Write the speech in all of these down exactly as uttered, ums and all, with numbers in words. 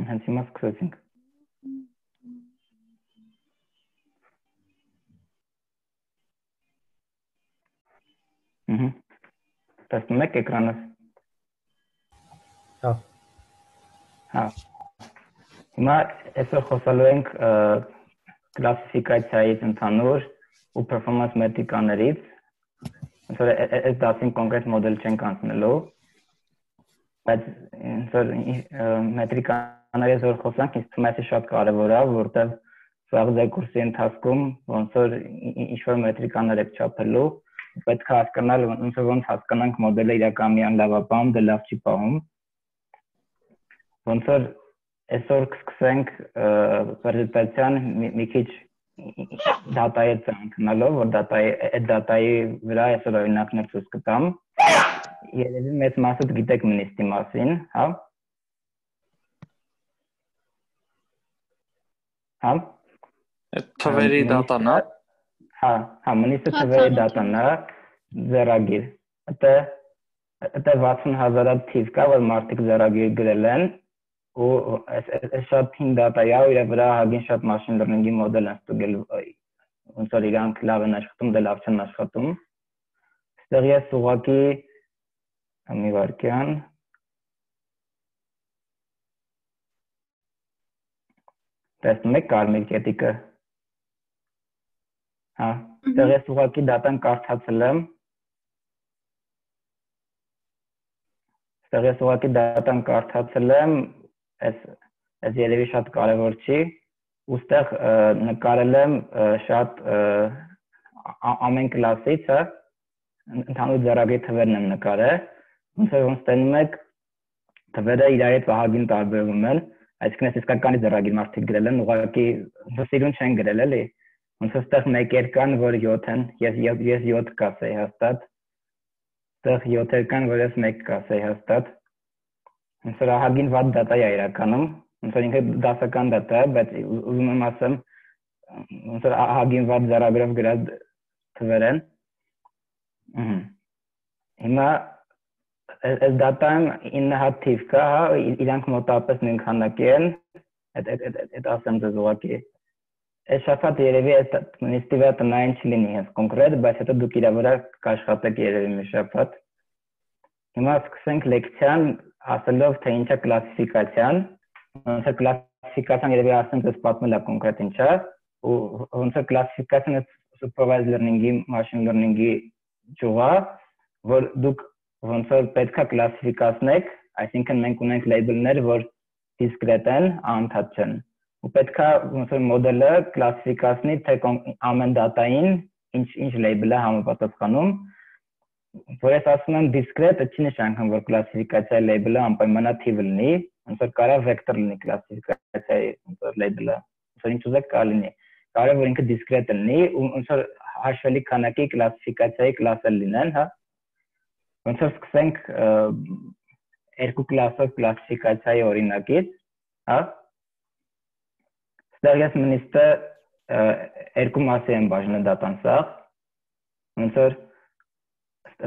Hենց հիմա սկսեցինք։ Ահա։ Տեսնում եք էկրանը։ Հա։ Հա։ Հիմա այսօր խոսալու ենք կլասիֆիկացիայից ընդհանուր ու performance մետրիկաներից։ Ոնց որ այս դասին կոնկրետ մոդել չենք անցնելու, բայց ոնց որ մետրիկաներից որ խոսանք, ինձ թվում է շատ կարևոր է, որտեղ սաղ ձեր կուրսի ընթացքում ոնց որ ինչ-որ մետրիկաներ եք չափելու, պետք է հասկանալ ոնց որ ոնց հասկանանք մոդելը իրական միան լավ է պահում, դե լավ չի պահում։ Ոնց որ այսօր կսկսենք պրեզենտացիան մի քիչ դատայի ծանոթանալով, որ դատայի այդ դատայի վրա այսօր օրինակներ ցույց կտամ։ Երևի մեծ մասը գիտեք մնիստի մասին, հա։ Հա։ Թվերի դատան է։ Հա, հա, մնիստը թվերի դատան է, ձեռագիր։ Դա դա վաթսուն հազար թիվ կա, որ մարդիկ ձեռագիր գրել են, ու այս շատ հին դատա է, ու իր վրա հագին շատ machine learning-ի մոդել են ստուգել, ոնց որ իրանք լավ են աշխատում, դե լավ չեն աշխատում։ Այստեղ ես ուղղակի մի վարքյան տեսնում եք կարմիր կետիկը։ Հա, այստեղ ես ուղղակի դատան կարդացել եմ։ Այստեղ ես ուղղակի դատան կարդացել եմ, այս այս երևի շատ կարևոր չի, ու այստեղ նկարել եմ շատ ամեն կլասից, հա, ընդհանուր ձեռագրի թվերն եմ նկարել, ոնց որ ոնց տենում եք թվերը իրար հետ ահագին տարբերվում են, այսինքն այս իսկականի ձեռագիր մարդիկ գրել են, ուղղակի սիրուն չեն գրել, էլի, ոնց որ այստեղ մեկեր կան, որ յոթ են, ես ես յոթ կասեի հաստատ, այստեղ յոթեր կան, որ ես մեկ կասեի հաստատ, ոնց որ ահագին վատ դատա է իրականում, ոնց որ ինքը դասական դատա է, բայց ուզում եմ ասեմ, ոնց որ ահագին վատ ձեռագրով գրած թվեր են։ Հիմա այս դատան ինը հատ թիվ կա, հա, իրանք մոտավորապես նույն քանակի են, այդ ասեմ ձեզ ուղղակի։ Այս շաբաթ երևի այս նիստի վրա տնային չլինի հենց կոնկրետ, բայց հետո դուք իրա վրա կաշխատեք երևի մի շաբաթ։ Հիմա սկսենք լեկցիան ասելով, թե ինչ է կլասիֆիկացիան, ոնց է կլասիֆիկացիան երևի ասեմ ձեզ պատմել է կոնկրետ ինչ է, ու ոնց է կլասիֆիկացիան supervised learning-ի, machine learning-ի ճյուղա, որ դուք ոնց որ պետք է կլասիֆիկացնեք, այսինքն մենք ունենք label-ներ, որ discrete են, անընդհատ չեն։ Ու պետք է ոնց որ մոդելը կլասիֆիկացնի, թե ամեն դատային ինչ ինչ label է համապատասխանում, որ ես ասում եմ discrete, չի նշանակում, որ կլասիֆիկացիայի label-ը անպայմանաթիվ լինի, ոնց որ կարա vector լինի կլասիֆիկացիայի ոնց որ label-ը, ոնց որ ինչ ուզեք կարա լինի։ Կարա որ ինքը discrete լինի, ու ոնց որ հաշվելի քանակի կլասիֆիկացիայի կլասեր լինեն, հա։ Ոնց որ սկսենք երկու կլասով կլասիֆիկացիայի օրինակից, հա։ Այստեղ ես մնիստը երկու մասի եմ բաժանել դատան սաղ, ոնց որ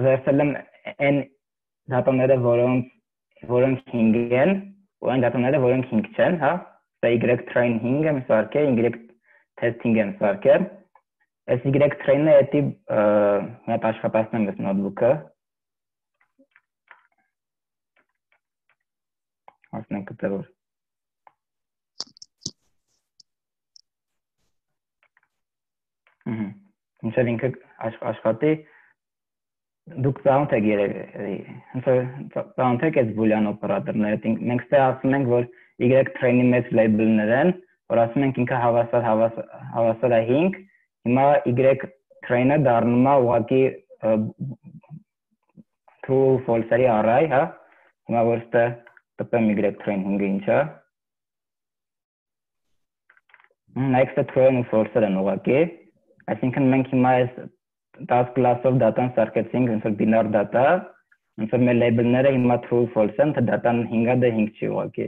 վերցել եմ այն դատաները, որոնք հինգ են, ու այն դատաները, որոնք հինգ չեն, հա։ Սա Y train հինգ եմ սարքել, Y test հինգ եմ սարքել։ Այս Y train-ը էտի մի հատ աշխատացնեմ ես նոթբուքը։ Ասնենք կտե որ։ Ինչև ինքը աշխատի, դուք ծանոթ եք երևի, ծանոթ եք այս բուլյան օպերատորները, մենք ստե ասում ենք, որ Y train-ի մեծ label-ներ են, որ ասում ենք ինքը հավասար հավասար է հինգ, հիմա Y train-ը դառնում է ուղղակի true false-երի array, հա, հիմա որ ստե տպեմ Y train հինգը ինչ է, նայեք ստե true-ն ու false-եր են ուղղակի, այսինքն մենք հիմա այս տասը կլասով դատան սարքեցինք, ոնց որ բինար դատա, ոնց որ մեր label-ները հիմա true false են, թե դատան հինգը դե հինգ չի ուղղակի։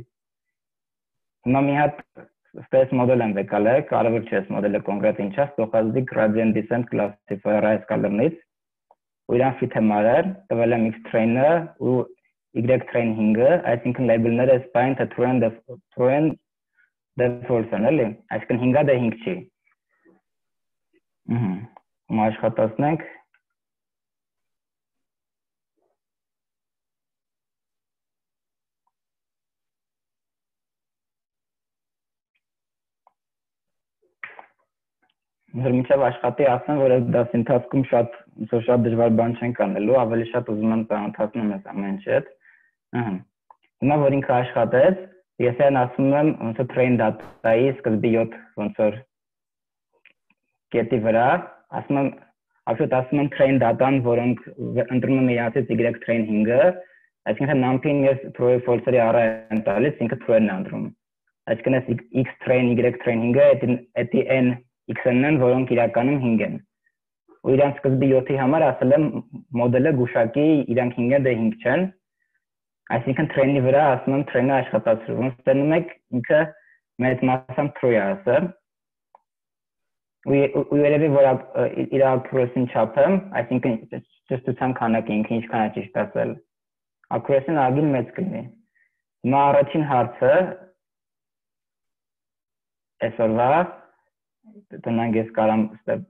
Հիմա մի հատ ստես մոդել եմ վեկալել, կարևոր չէ այս մոդելը կոնկրետ ինչ է, stochastic gradient descent classifier այս կալրնից, ու իրան fit եմ արել, տվել եմ X train-ը ու y train հինգը, այսինքն label-ները spine թե true and true and the false են, էլի, այսինքն հինգը դա հինգ չի։ Ահա, ու աշխատացնենք Որ մինչև աշխատի ասեմ, որ այս դասի ընթացքում շատ ոնց շատ դժվար բան չենք անելու, ավելի շատ ուզում եմ ծանոթացնել մեզ ամեն ինչ հետ։ Ահա։ Հիմա որ ինքը աշխատեց, ես այն ասում եմ ոնց որ train data-ի սկզբի յոթ ոնց որ կետի վրա, ասում եմ, absolute ասում եմ train data-ն, որոնք ընտրում եմ իրանցից y train հինգը, այսինքն num-ին ես true false-ի առա եմ տալիս, ինքը true-ն է ընտրում։ Այսինքն այս x train y train հինգը էդի n x-ն են, որոնք իրականում հինգ են։ Ու իրանց սկզբի յոթի համար ասել եմ մոդելը գուշակի իրանք հինգ են, դե հինգ չեն։ Այսինքն train-ի վրա ասում եմ train-ը աշխատացրու։ Ոնց տենում եք ինքը մեծ մասամբ true է ասել։ Ու երևի որ իր accuracy-ն չափեմ, այսինքն ճշտության քանակը ինքը ինչքան է ճիշտ ասել։ Accuracy-ն ագին մեծ կլինի։ Հիմա առաջին հարցը այսօրվա տնանք ես կարամ ստեպ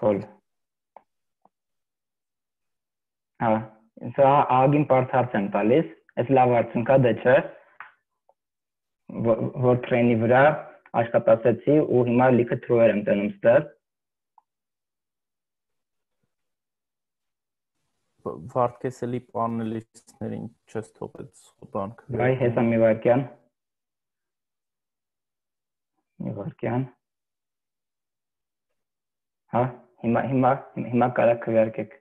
փոլ հա սա ագին բարդ հարց եմ տալիս, այս լավ արդյունք է դե չէ, որ train-ի վրա աշխատացեցի ու հիմա լիքը true-եր եմ տենում ստեղ։ Վարդկեսելի պանելիստներին չես թողեց խոտանք։ Բայ հեսա մի վարկյան։ Մի վարկյան։ Հա, հիմա հիմա հիմա կարա քվերկեք։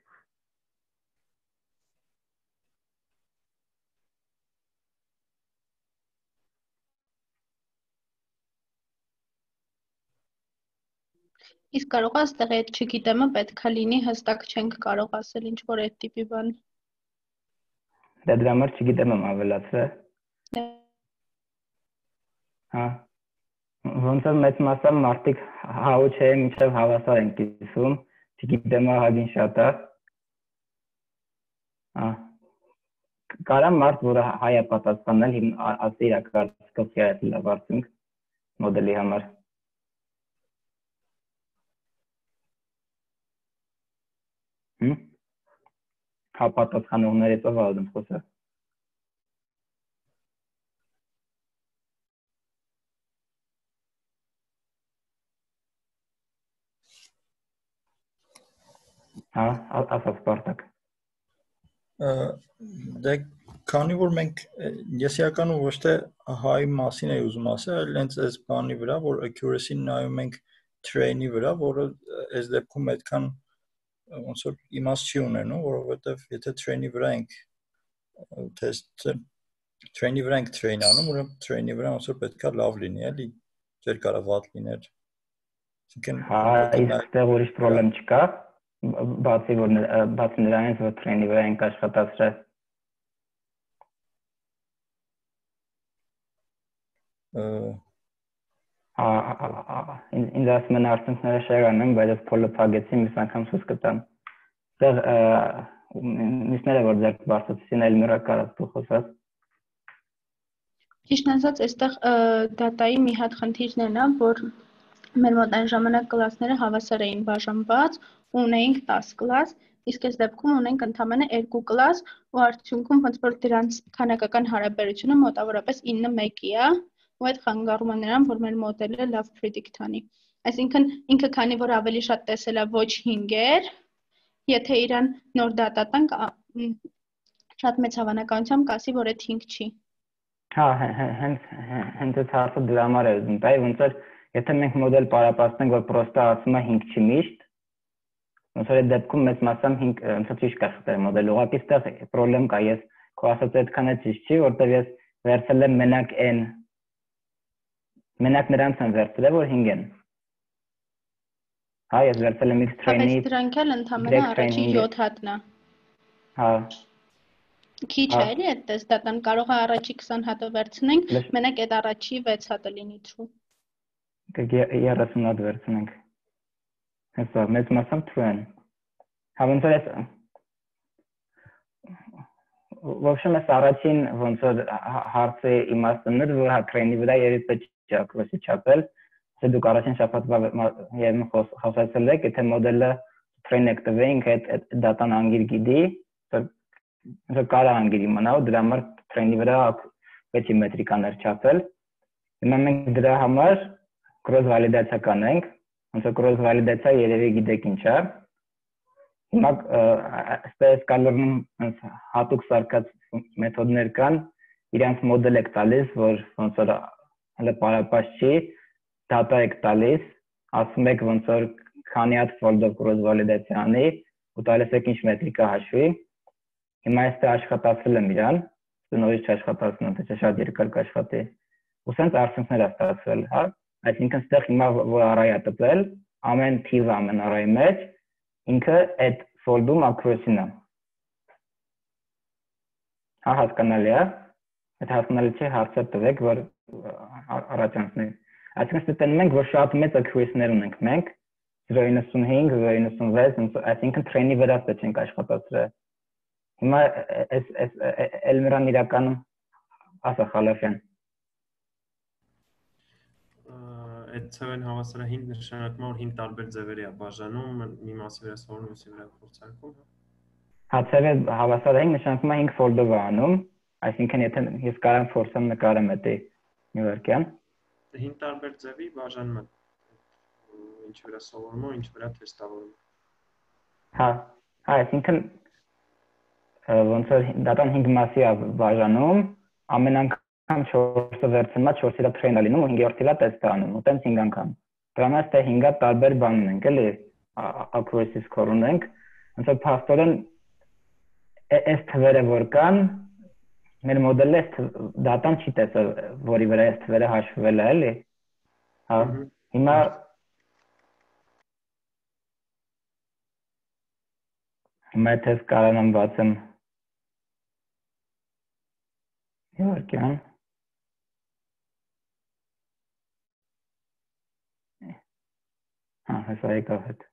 Իսկ կարող ես այդտեղ այդ չգիտեմը պետքա լինի, հստակ չենք կարող ասել ինչ որ այդ տիպի բան։ Դա դրա համար չգիտեմ եմ ավելացրել։ Հա։ Ոնց որ մեծ մասամբ մարդիկ հաու չէ, մինչև հավասար են կիսում, չգիտեմ ահագին շատ է։ Հա։ Կարամ մարդ, որը հայ է պատասխանել, ասի իր կարծիքով է լավ արդյունք մոդելի համար։ Հմ։ Հա պատասխանողներից ով ալդում խոսը։ Հա, ասաց Սպարտակ։ Դե քանի որ մենք ես իրականում ոչ թե հայ մասին էի ուզում ասել, այլ հենց այս բանի վրա, որ accuracy-ն նայում ենք train-ի վրա, որը այս դեպքում այդքան ոնց որ իմաստ չի ունենում, որովհետև եթե train-ի վրա ենք test train-ի վրա ենք train անում, ուրեմն train-ի վրա ոնց որ պետքա լավ լինի, էլի, չէր կարա վատ լիներ։ Այսինքն հա, այստեղ ուրիշ պրոբլեմ չկա, բացի որ բացի նրանից որ train-ի վրա ենք աշխատացրել։ Հա, ինձ ասում են արդյունքները շեղան են, բայց ես փոլը փակեցի, մյուս անգամ ցույց կտամ։ Այստեղ մյուսները որ ձեր բարձրացին, այլ մյուրը կարած դու խոսած։ Ճիշտ ասած, այստեղ դատայի մի հատ խնդիրն է, որ մեր մոտ այն ժամանակ կլասները հավասար էին բաժանված, ու ունեինք տասը կլաս, իսկ այս դեպքում ունենք ընդամենը երկու կլաս, ու արդյունքում ոնց որ դրանց քանակական հարաբերությունը մոտավորապես ինը մեկի է, ու այդ խանգարում է նրան, որ մեր մոդելը լավ predict անի։ Այսինքն ինքը քանի որ ավելի շատ տեսել է ոչ հինգեր, եթե իրան նոր դատա տանք, շատ մեծ հավանականությամբ կասի, որ այդ հինգ չի։ Հա, հենց հենց այդ հարցը դրա համար է ուզում տալ, ոնց որ եթե մենք մոդել պարապացնենք, որ պրոստը ասում է հինգ չի միշտ, ոնց որ այդ դեպքում մեծ մասամբ հինգ ոնց որ ճիշտ կախտել մոդելը, ուղղակի այստեղ պրոբլեմ կա, ես քո ասած այդքան է ճիշտ չի, որտեղ ես վերցրել եմ մենակ n, մենակ նրանց եմ վերցրել, որ հինգ են։ Հա, ես վերցրել եմ x train-ի։ Բայց դրանք էլ ընդամենը առաջի յոթ հատն է։ Հա։ Քիչ է էլի այդ տեստատան, կարող է առաջի քսան հատը վերցնենք, մենակ այդ առաջի վեց հատը լինի true։ երեսուն հատ վերցնենք։ Հեսա մեծ մասամբ true են։ Հա ոնց որ в общем, այս առաջին ոնց որ հարցի իմաստն էր, որ հակրենի վրա երբ պետք է ակրոսի չափել, թե դուք առաջին շաբաթվա երբ խոսացել եք, եթե մոդելը train եք տվեինք, այդ դատան անգիր գիտի, դա կարա անգիր իմանա, ու դրա համար train-ի վրա պետք է մետրիկաներ չափել։ Հիմա մենք դրա համար cross validation կանենք, ոնց որ cross validation երևի գիտեք ինչ է։ Հիմա այսպես կալորնում հատուկ սարքած մեթոդներ կան, իրանց մոդել եք տալիս, որ ոնց որ հələ պարապած չի, data եք տալիս, ասում եք ոնց որ քանի հատ fold-ով cross validation անի, ու տալիս եք ինչ մետրիկա հաշվի։ Հիմա այստեղ աշխատացրել եմ իրան, նորից չաշխատացնում, թե շատ երկար կաշխատի։ Ու սենց արդյունքներ է ստացվել, հա։ Այսինքն այստեղ հիմա որ array-ը տպել, ամեն թիվը ամեն array-ի մեջ ինքը այդ fold-ում accuracy-ն է։ Հա, հասկանալի է։ Այդ հասկանալի չէ, հարցը տվեք, որ առաջանցնի։ Այսինքն ստանում ենք, որ շատ մեծ accuracy-ներ ունենք մենք, zero նինety-five, zero ninety-six, այսինքն train-ի վրա պետք ենք աշխատացրել։ Հիմա այս այս Էլմիրան իրականում ասա Խալաֆյան։ Այդ ցավեն հավասարահին նշանակում է որ հին տարբեր ձևերի է բաժանում, մի մասի վրա սովորում, մյուսի վրա փորձարկում, հա։ Հա, ցավեն հավասարահին նշանակում է հինգ fold-ով անում, այսինքն եթե ես կարամ փորձեմ նկարեմ դա Նյուերկյան։ Հին տարբեր ձևի բաժանումը ինչ վրա սովորում ու ինչ վրա թեստավորում։ Հա, հա, այսինքն ոնց որ դատան հինգ մասի է բաժանում, ամեն անգամ չորսը վերցնումա չորսի վրա train-ը լինում ու հինգերորդի վրա test-ը անում, ու տենց հինգ անգամ։ Դրա համար այստեղ հինգը տարբեր բան ունենք, էլի, accuracy score ունենք, ոնց որ փաստորեն այս թվերը որ կան, մեր մոդելը դատան չի տեսել, որի վրա այս թվերը հաշվվել է, էլի։ Հա, հիմա հիմա test կարանամ բացեմ Նյուերկյան։ Հա, հեսա եկավ հետ։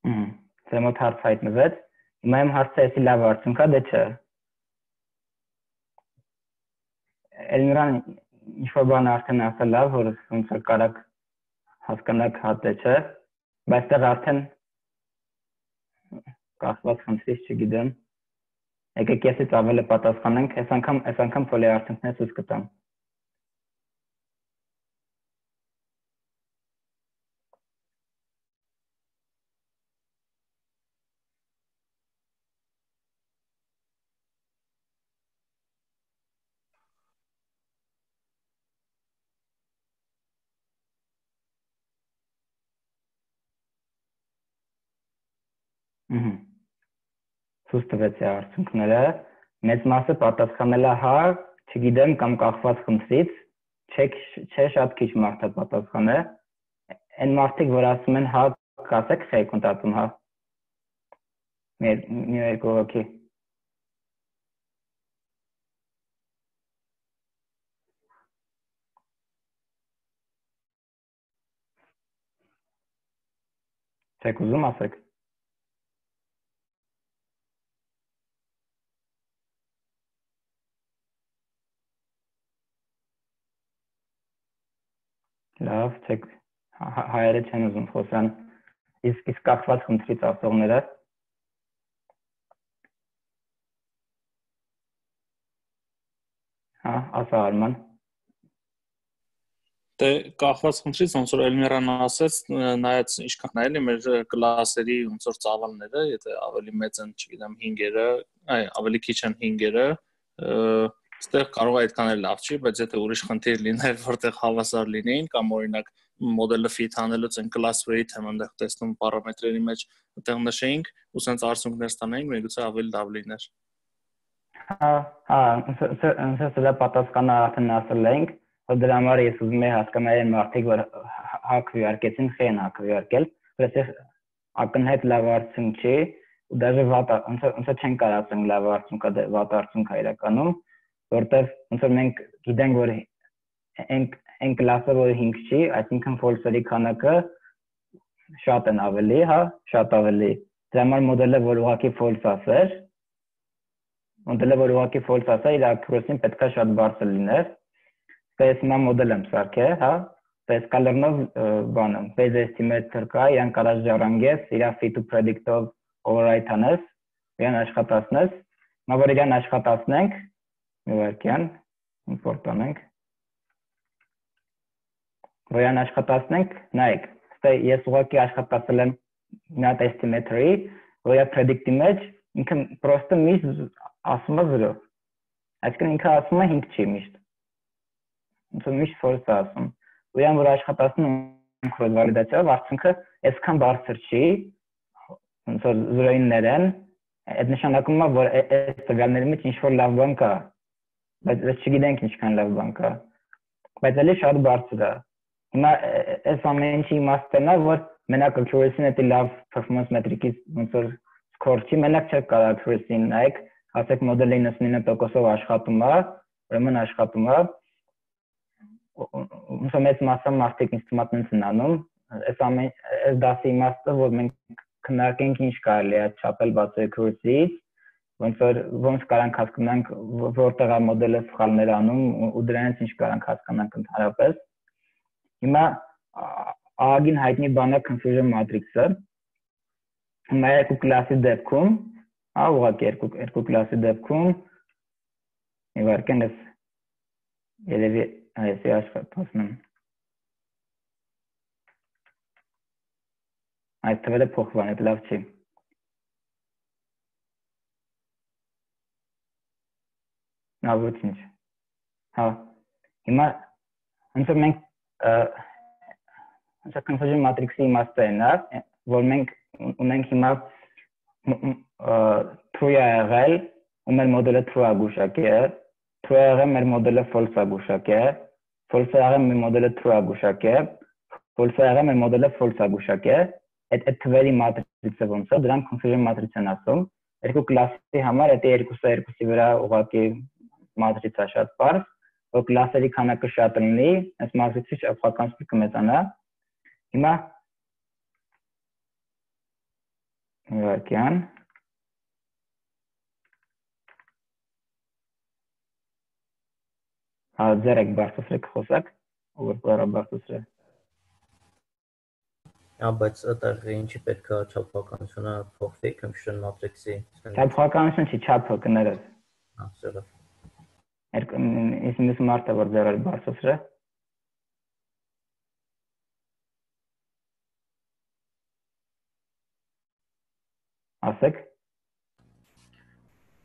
Հմ, դե մոտ հարց հայտնվեց։ Հիմա իմ հարցը էսի լավ արդյունք է, դե չէ։ Էլմիրան ինչ-որ բան արդեն ասել է, որ ոնց որ կարաք հասկանաք հա թե չէ, բայց այստեղ արդեն կախված խնդրից չգիտեմ։ Եկեք եսից ավելի պատասխանենք, այս անգամ այս անգամ փոլի արդյունքները ցույց կտամ։ Ցույց տվեց է արդյունքները, մեծ մասը պատասխանել է հա, չգիտեմ կամ կախված խնդրից, չէ շատ քիչ մարդ է պատասխանել, այն մարդիկ, որ ասում են հա, կասեք խե կոնտակտում հա, մեր մի երկու հոգի։ Չեք ուզում ասեք։ Լավ, չեք հայերը չեն ուզում խոսան, իսկ իսկ կախված խնդրից ասողները։ Հա, ասա Արման։ Դե կախված խնդրից ոնց որ Էլմիրան ասաց, նայած ինչքան է էլի մեր կլասերի ոնց որ ծավալները, եթե ավելի մեծ են, չգիտեմ, հինգերը, այ ավելի քիչ են հինգերը, այստեղ կարող է այդքան էլ լավ չի, բայց եթե ուրիշ խնդիր լիներ, որտեղ հավասար լինեին կամ օրինակ մոդելը fit անելուց այն class weight-ը այնտեղ տեսնում պարամետրերի մեջ այդտեղ նշեինք, ու սենց արդյունքներ ստանայինք, միգուցե ավելի լավ լիներ։ Հա, հա, ոնց է դա պատասխանը արդեն ասել ենք, որ դրա համար ես ուզում եմ հասկանալ այն մարդիկ, որ հա քվեարկեցին, խեն հա քվեարկել, որովհետեւ ակնհայտ լավ արդյունք չի, ու դաժե վատ ոնց ոնց չեն կարացել լավ արդյունք, վատ արդյունք է իրականում, որտեղ ոնց որ մենք գիտենք, որ այն այն կլասը որ հինգ չի, այսինքն false-երի քանակը շատ են ավելի, հա, շատ ավելի։ Դրա համար մոդելը որ ուղղակի false ասեր, մոդելը որ ուղղակի false ասեր, իր accuracy-ն պետք է շատ բարձր լիներ։ Դա ես հիմա մոդել եմ սարքել, հա, այս կալերնով բանը, base estimator կա, իրան կարած ժառանգես, իր fit to predict-ով override անես, իրան աշխատացնես, հիմա որ իրան աշխատացնենք, մի վայրկյան, import անենք, որ իրան աշխատացնենք, նայեք, ես ուղղակի աշխատացել եմ մի հատ estimator-ի, որ իր predict-ի մեջ ինքը պրոստը միշտ ասում է զրո, այսինքն ինքը ասում է հինգ չի միշտ, ոնց որ միշտ false է ասում, Ուրան որ աշխատացնում քրոս վալիդացիայով արդյունքը այսքան բարձր չի, ոնց որ զրոյիններ են, այդ նշանակում է, որ այս տվյալների մեջ ինչ-որ լավ բան կա, բայց ես չգիտենք ինչքան լավ բան կա, բայց էլի շատ բարձր է։ Հիմա այս ամեն ինչի իմաստն է, որ մենակ accuracy-ն էդի լավ performance metric-ից ոնց որ score չի, մենակ չէ կարող accuracy-ն նայեք, ասեք մոդելը իննսունինը տոկոսով աշխատում է, ուրեմն աշխատում է ոնց մեծ մասը մարդիկ ինստումենտներ են անում, այս ամեն այս դասի իմաստը, որ մենք քննարկենք ինչ կարելի է չափել բացի accuracy-ից, ոնց որ ոնց կարանք հասկանանք որտեղ է մոդելը սխալներ անում ու դրանից ինչ կարանք հասկանանք ընդհանրապես։ Հիմա ահագին հայտնի բան է confusion matrix-ը։ Հիմա երկու կլասի դեպքում, հա, ուղղակի երկու երկու կլասի դեպքում մի վարքեն ես երևի Այս է աշխատացնում։ Այս թվերը փոխվան, այդ լավ չի։ Նա ոչինչ։ Հա, հիմա ոնց որ մենք ոնց confusion matrix-ի իմաստը է նա, որ մենք ունենք հիմա true է եղել, ու մեր մոդելը true է գուշակել, true է եղել, մեր մոդելը false է գուշակել, false է եղել, մեր մոդելը true է գուշակել, false է եղել, մեր մոդելը false է գուշակել, այդ այդ թվերի matrix-ը ոնց է, դրան confusion matrix են ասում, երկու կլասի համար այդ երկուսը երկուսի վրա ուղղակի matrix-ը շատ բարձր, որ կլասերի քանակը շատ լինի, այս matrix-ի շփոթվածությունը կմեծանա։ Հիմա վարքյան Հա, ձերեք բարձրացրեք խոսակ, որ պարա բարձրացրե։ Հա, բայց այդտեղ ինչի պետք է չափականությունը փոխվի confusion matrix-ի։ Չափականություն չի, չափը կներես։ Հա, սրա։ Իսկ մյուս մարդը որ ձեր բարձրացրե։ Ասեք։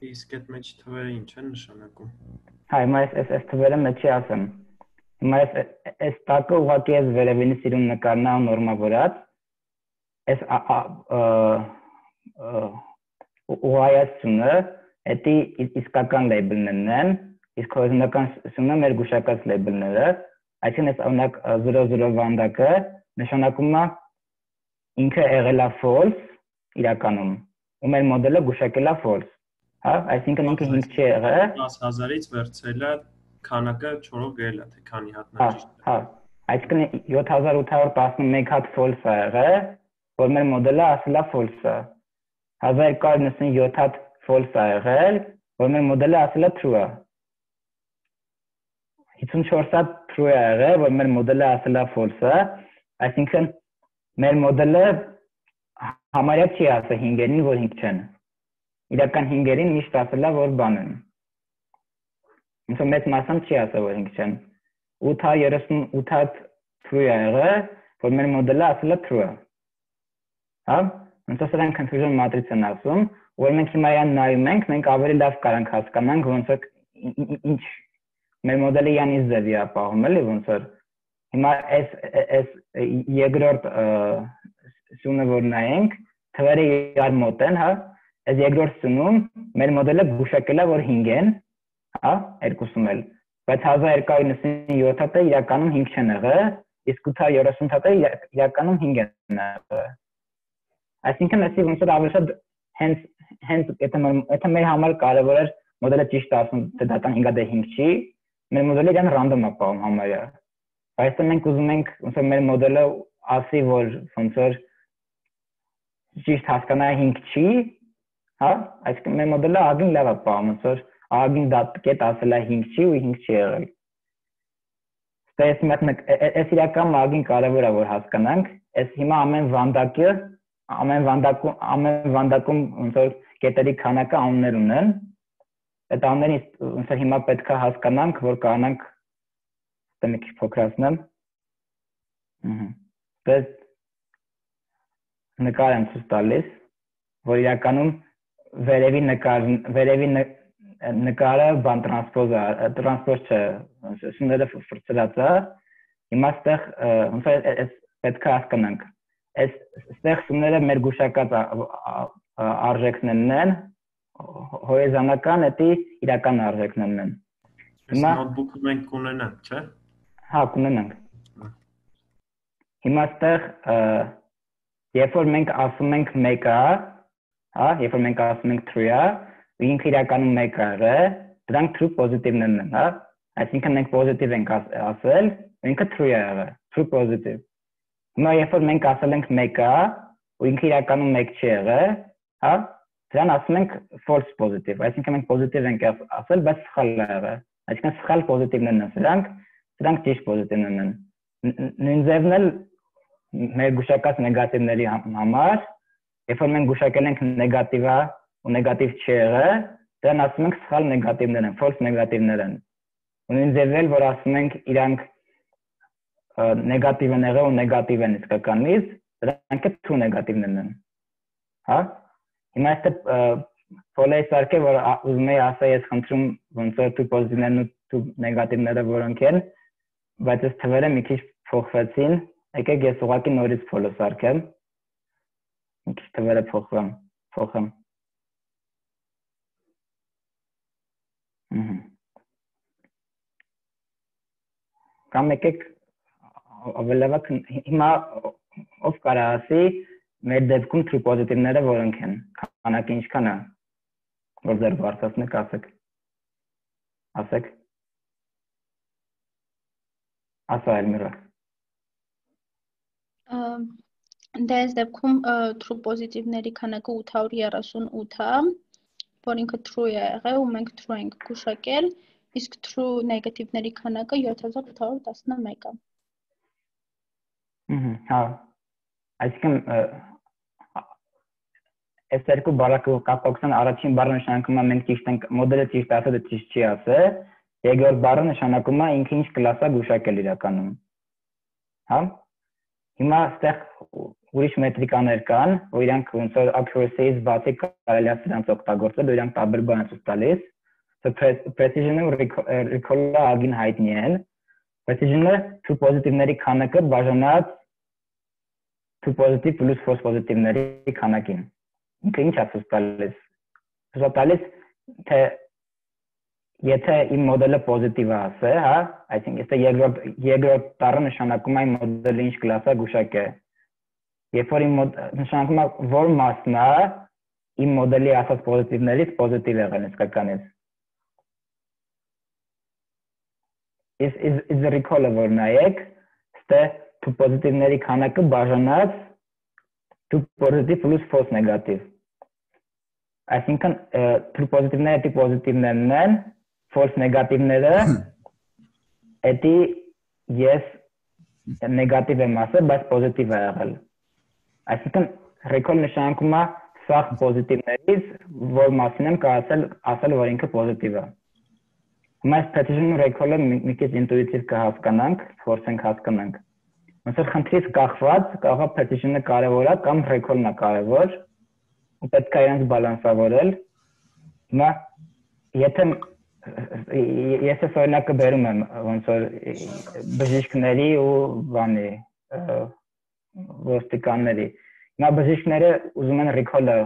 Իսկ այդ մեջ թվերը ինչ են նշանակում։ Հա, հիմա այս այս թվերը մեջի ասեմ։ Հիմա այս այս տակը ուղղակի այս վերևինի սիրուն նկարն է նորմավորած։ Այս ուղղայացությունը էդի իսկական լեյբլներն են, իսկ հորիզոնական սյունը մեր գուշակած լեյբլները, այսինքն այս օրինակ զրո զրո վանդակը նշանակում է ինքը եղել է false իրականում, ու մեր մոդելը գուշակել է false, հա, այսինքն ինքը հինգ չի եղել, դաս հազարից վերցրելը քանակը չորով գրել է, թե քանի հատնա ճիշտ է։ Հա, այսինքն յոթ հազար ութ հարյուր տասնմեկ հատ false է եղել, որ մեր մոդելը ասել է false է։ հազար երկու հարյուր նվսանյոթ հատ false է եղել, որ մեր մոդելը ասել է true է։ հիսունչորս հատ true է եղել, որ մեր մոդելը ասել է false է, այսինքն մեր մոդելը համարյա չի ասել հինգերին, որ հինգ չեն։ Իրական հինգերին միշտ ասել է, որ բան են։ Ոնց որ մեծ մասամբ չի ասել, որ հինգ չեն։ ութ հարյուր երեսունութ հատ true է եղել, որ մեր մոդելը ասել է true է։ Հա, ոնց որ սրանք confusion matrix են ասում, որ մենք հիմա այն նայում ենք, մենք ավելի լավ կարանք հասկանանք, ոնց որ ինչ մեր մոդելը յանի ձևի է ապահովում, էլի ոնց որ հիմա այս այս երկրորդ սյունը որ նայենք, թվերը իրար մոտ են, հա, այս երկրորդ սյունում մեր մոդելը գուշակել է, որ հինգ են, հա, երկուսում էլ, բայց հազար երկու հարյուր նվսանյոթ հատը իրականում հինգ չեն եղել, իսկ ութ հարյուր երեսուն հատը իրականում հինգ են եղել։ Այսինքն այսի ոնց որ ավելի շատ հենց հենց եթե մեր համար կարևոր էր մոդելը ճիշտ ասում թե դատան հինգ դե հինգ չի, մեր մոդելը իրան random է պահում համարյա։ Այստեղ մենք ուզում ենք ոնց որ մեր մոդելը ասի, որ ոնց որ ճիշտ հասկանա հինգ չի, հա, այսինքն մեր մոդելը ագին լավ է պահում, ոնց որ ագին դատ կետ ասել է հինգ չի ու հինգ չի եղել։ Ստես մեկ էս իրական ագին կարևոր է որ հասկանանք, էս հիմա ամեն վանդակը, ամեն վանդակում, ամեն վանդակում ոնց որ կետերի քանակը անուններ ունեն։ Այդ անուններից ոնց որ հիմա պետք է հասկանանք, որ կանանք դե մի քիչ փոքրացնեմ։ Ահա։ Դες նկար եմ ցույց տալիս, որ իրականում վերևի նկար, վերևի նկարը բան տրանսպոզ է, տրանսպոզ չէ, սուները ֆրծրած է։ Հիմա այստեղ ոնց է էս պետք է հասկանանք։ Այս այստեղ սուները մեր գուշակած արժեքներն են, հորիզոնական էդի իրական արժեքներն են։ Հիմա նոթբուքը մենք կունենանք, չէ՞։ Հա, կունենանք։ Հիմա այստեղ երբ որ մենք ասում ենք մեկը, հա, երբ որ մենք ասում ենք true է, ինքը իրականում մեկը է, դրանք true positive-ներն են, հա։ Այսինքն մենք positive ենք ասել, ինքը true է եղել, true positive։ Հիմա երբ որ մենք ասել ենք մեկը, ու ինքը իրականում մեկ չի եղել, հա, դրան ասում ենք false positive, այսինքն մենք positive ենք ասել, բայց սխալ է եղել։ Այսինքն սխալ positive-ներն են սրանք, դրանք ճիշտ positive-ներն են։ Նույն ձևն էլ մեր գուշակած նեգատիվների համար, երբ որ մենք գուշակել ենք նեգատիվը ու նեգատիվ չի եղել, դրան ասում ենք սխալ նեգատիվներ են, false նեգատիվներ են։ Ու նույն ձևել, որ ասում ենք իրանք նեգատիվ են եղել ու նեգատիվ են իսկականից, դրանք է true նեգատիվներն են։ Հա։ Հիմա այստեղ փոլեի սարքե, որ ուզում եի ասա, ես խնդրում ոնց որ true positive-ներն ու true նեգատիվները որոնք են, բայց այս թվերը մի քիչ փոխվեցին, եկեք ես ուղղակի նորից փոլը սարքեմ։ Մի քիչ թվերը փոխվեմ, փոխեմ։ Կամ եկեք ավելավակ հիմա ով կարա ասի մեր դեպքում true positive-ները որոնք են, քանակը ինչքան է, որ ձեր բարձրացնեք, ասեք։ Ասեք։ Ասա Էլմիրա։ Դե այս դեպքում true positive-ների քանակը ութ հարյուր երեսունութ է, որ ինքը true է եղել ու մենք true ենք գուշակել, իսկ true negative-ների քանակը յոթ հազար ութ հարյուր տասնմեկ է։ Հա։ Այսինքն այս երկու բառը կապակցան առաջին բառը նշանակում է մենք ճիշտ ենք, մոդելը ճիշտ ասել է, ճիշտ չի ասել, երկրորդ բառը նշանակում է ինքը ինչ կլաս է գուշակել իրականում։ Հա։ Հիմա այստեղ ուրիշ մետրիկաներ կան, որ իրանք ոնց որ accuracy-ից բացի կարելի է սրանց օգտագործել, իրանք տարբեր բան են ցույց տալիս։ Precision-ը ու recall-ը ագին հայտնի են։ Precision-ը true positive-ների քանակը բաժանած true positive plus false positive-ների քանակին։ Ինքը ինչ է ցույց տալիս։ Ցույց տալիս թե եթե իմ մոդելը պոզիտիվ է ասե, հա, այսինքն եթե երկրորդ երկրորդ տառը նշանակում է իմ մոդելը ինչ կլաս է գուշակել։ Երբ որ իմ նշանակում է որ մասն է իմ մոդելի ասած պոզիտիվներից պոզիտիվ եղել իսկականից։ Is is is the recall-ը որ նայեք, ստե to պոզիտիվների քանակը բաժանած to positive plus false negative։ Այսինքն true positive-ները դի պոզիտիվներն են, false negative-ները էդի ես նեգատիվ եմ ասել, բայց պոզիտիվ է եղել։ Այսինքն recall նշանակում է սաղ պոզիտիվներից, որ մասին եմ ասել, ասել որ ինքը պոզիտիվ է։ Հիմա այս precision ու recall-ը մի քիչ ինտուիտիվ կհասկանանք, փորձենք հասկանանք։ Ոնց որ խնդրից կախված, կարող է precision-ը կարևոր է կամ recall-ն է կարևոր, ու պետք է իրենց բալանսավորել։ Հիմա եթե ես այս օրինակը բերում եմ ոնց որ բժիշկների ու բանի ոստիկանների։ Հիմա բժիշկները ուզում են recall-ը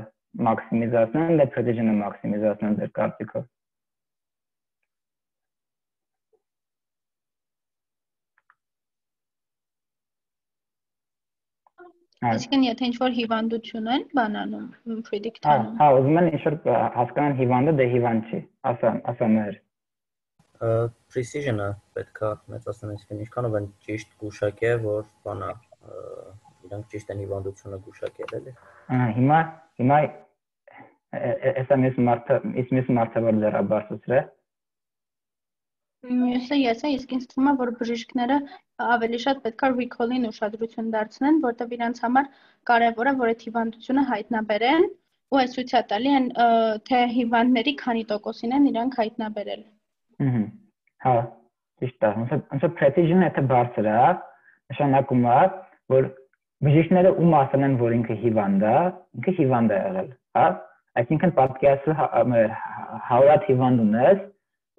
մաքսիմիզացնել, դե precision-ը մաքսիմիզացնել ձեր կարծիքով։ Այսինքն եթե ինչ-որ հիվանդություն են բանանում, predict Հա, անում։ հա, ուզում են ինչ-որ հասկանան հիվանդը դե հիվանդ չի, ասա, ասա մեր։ Precision-ը պետք է մեծացնել, այսինքն ինչքանով են ճիշտ գուշակել, որ բանա իրանք ճիշտ են հիվանդությունը գուշակել, էլի։ Ահա, հիմա, հիմա էսա մեծ մարդը, իսկ մեծ մարդը որ դեռ բարձրացրե։ Մյուսը ես եմ, իսկ ինձ թվում է, որ բժիշկները ավելի շատ պետք է recall-ին ուշադրություն դարձնեն, որտեղ իրանց համար կարևոր է, որ այդ հիվանդությունը հայտնաբերեն, ու այս ցույց է տալի են թե հիվանդների քանի տոկոսին են իրանք հայտնաբերել։ Ահա, հա, ճիշտ է, ոնց որ precision-ը եթե բարձր է, նշանակում է, որ բժիշկները ում ասել են, որ ինքը հիվանդ է, ինքը հիվանդ է եղել, հա, այսինքն պատկերացրու հարյուրատ հիվանդ ունես,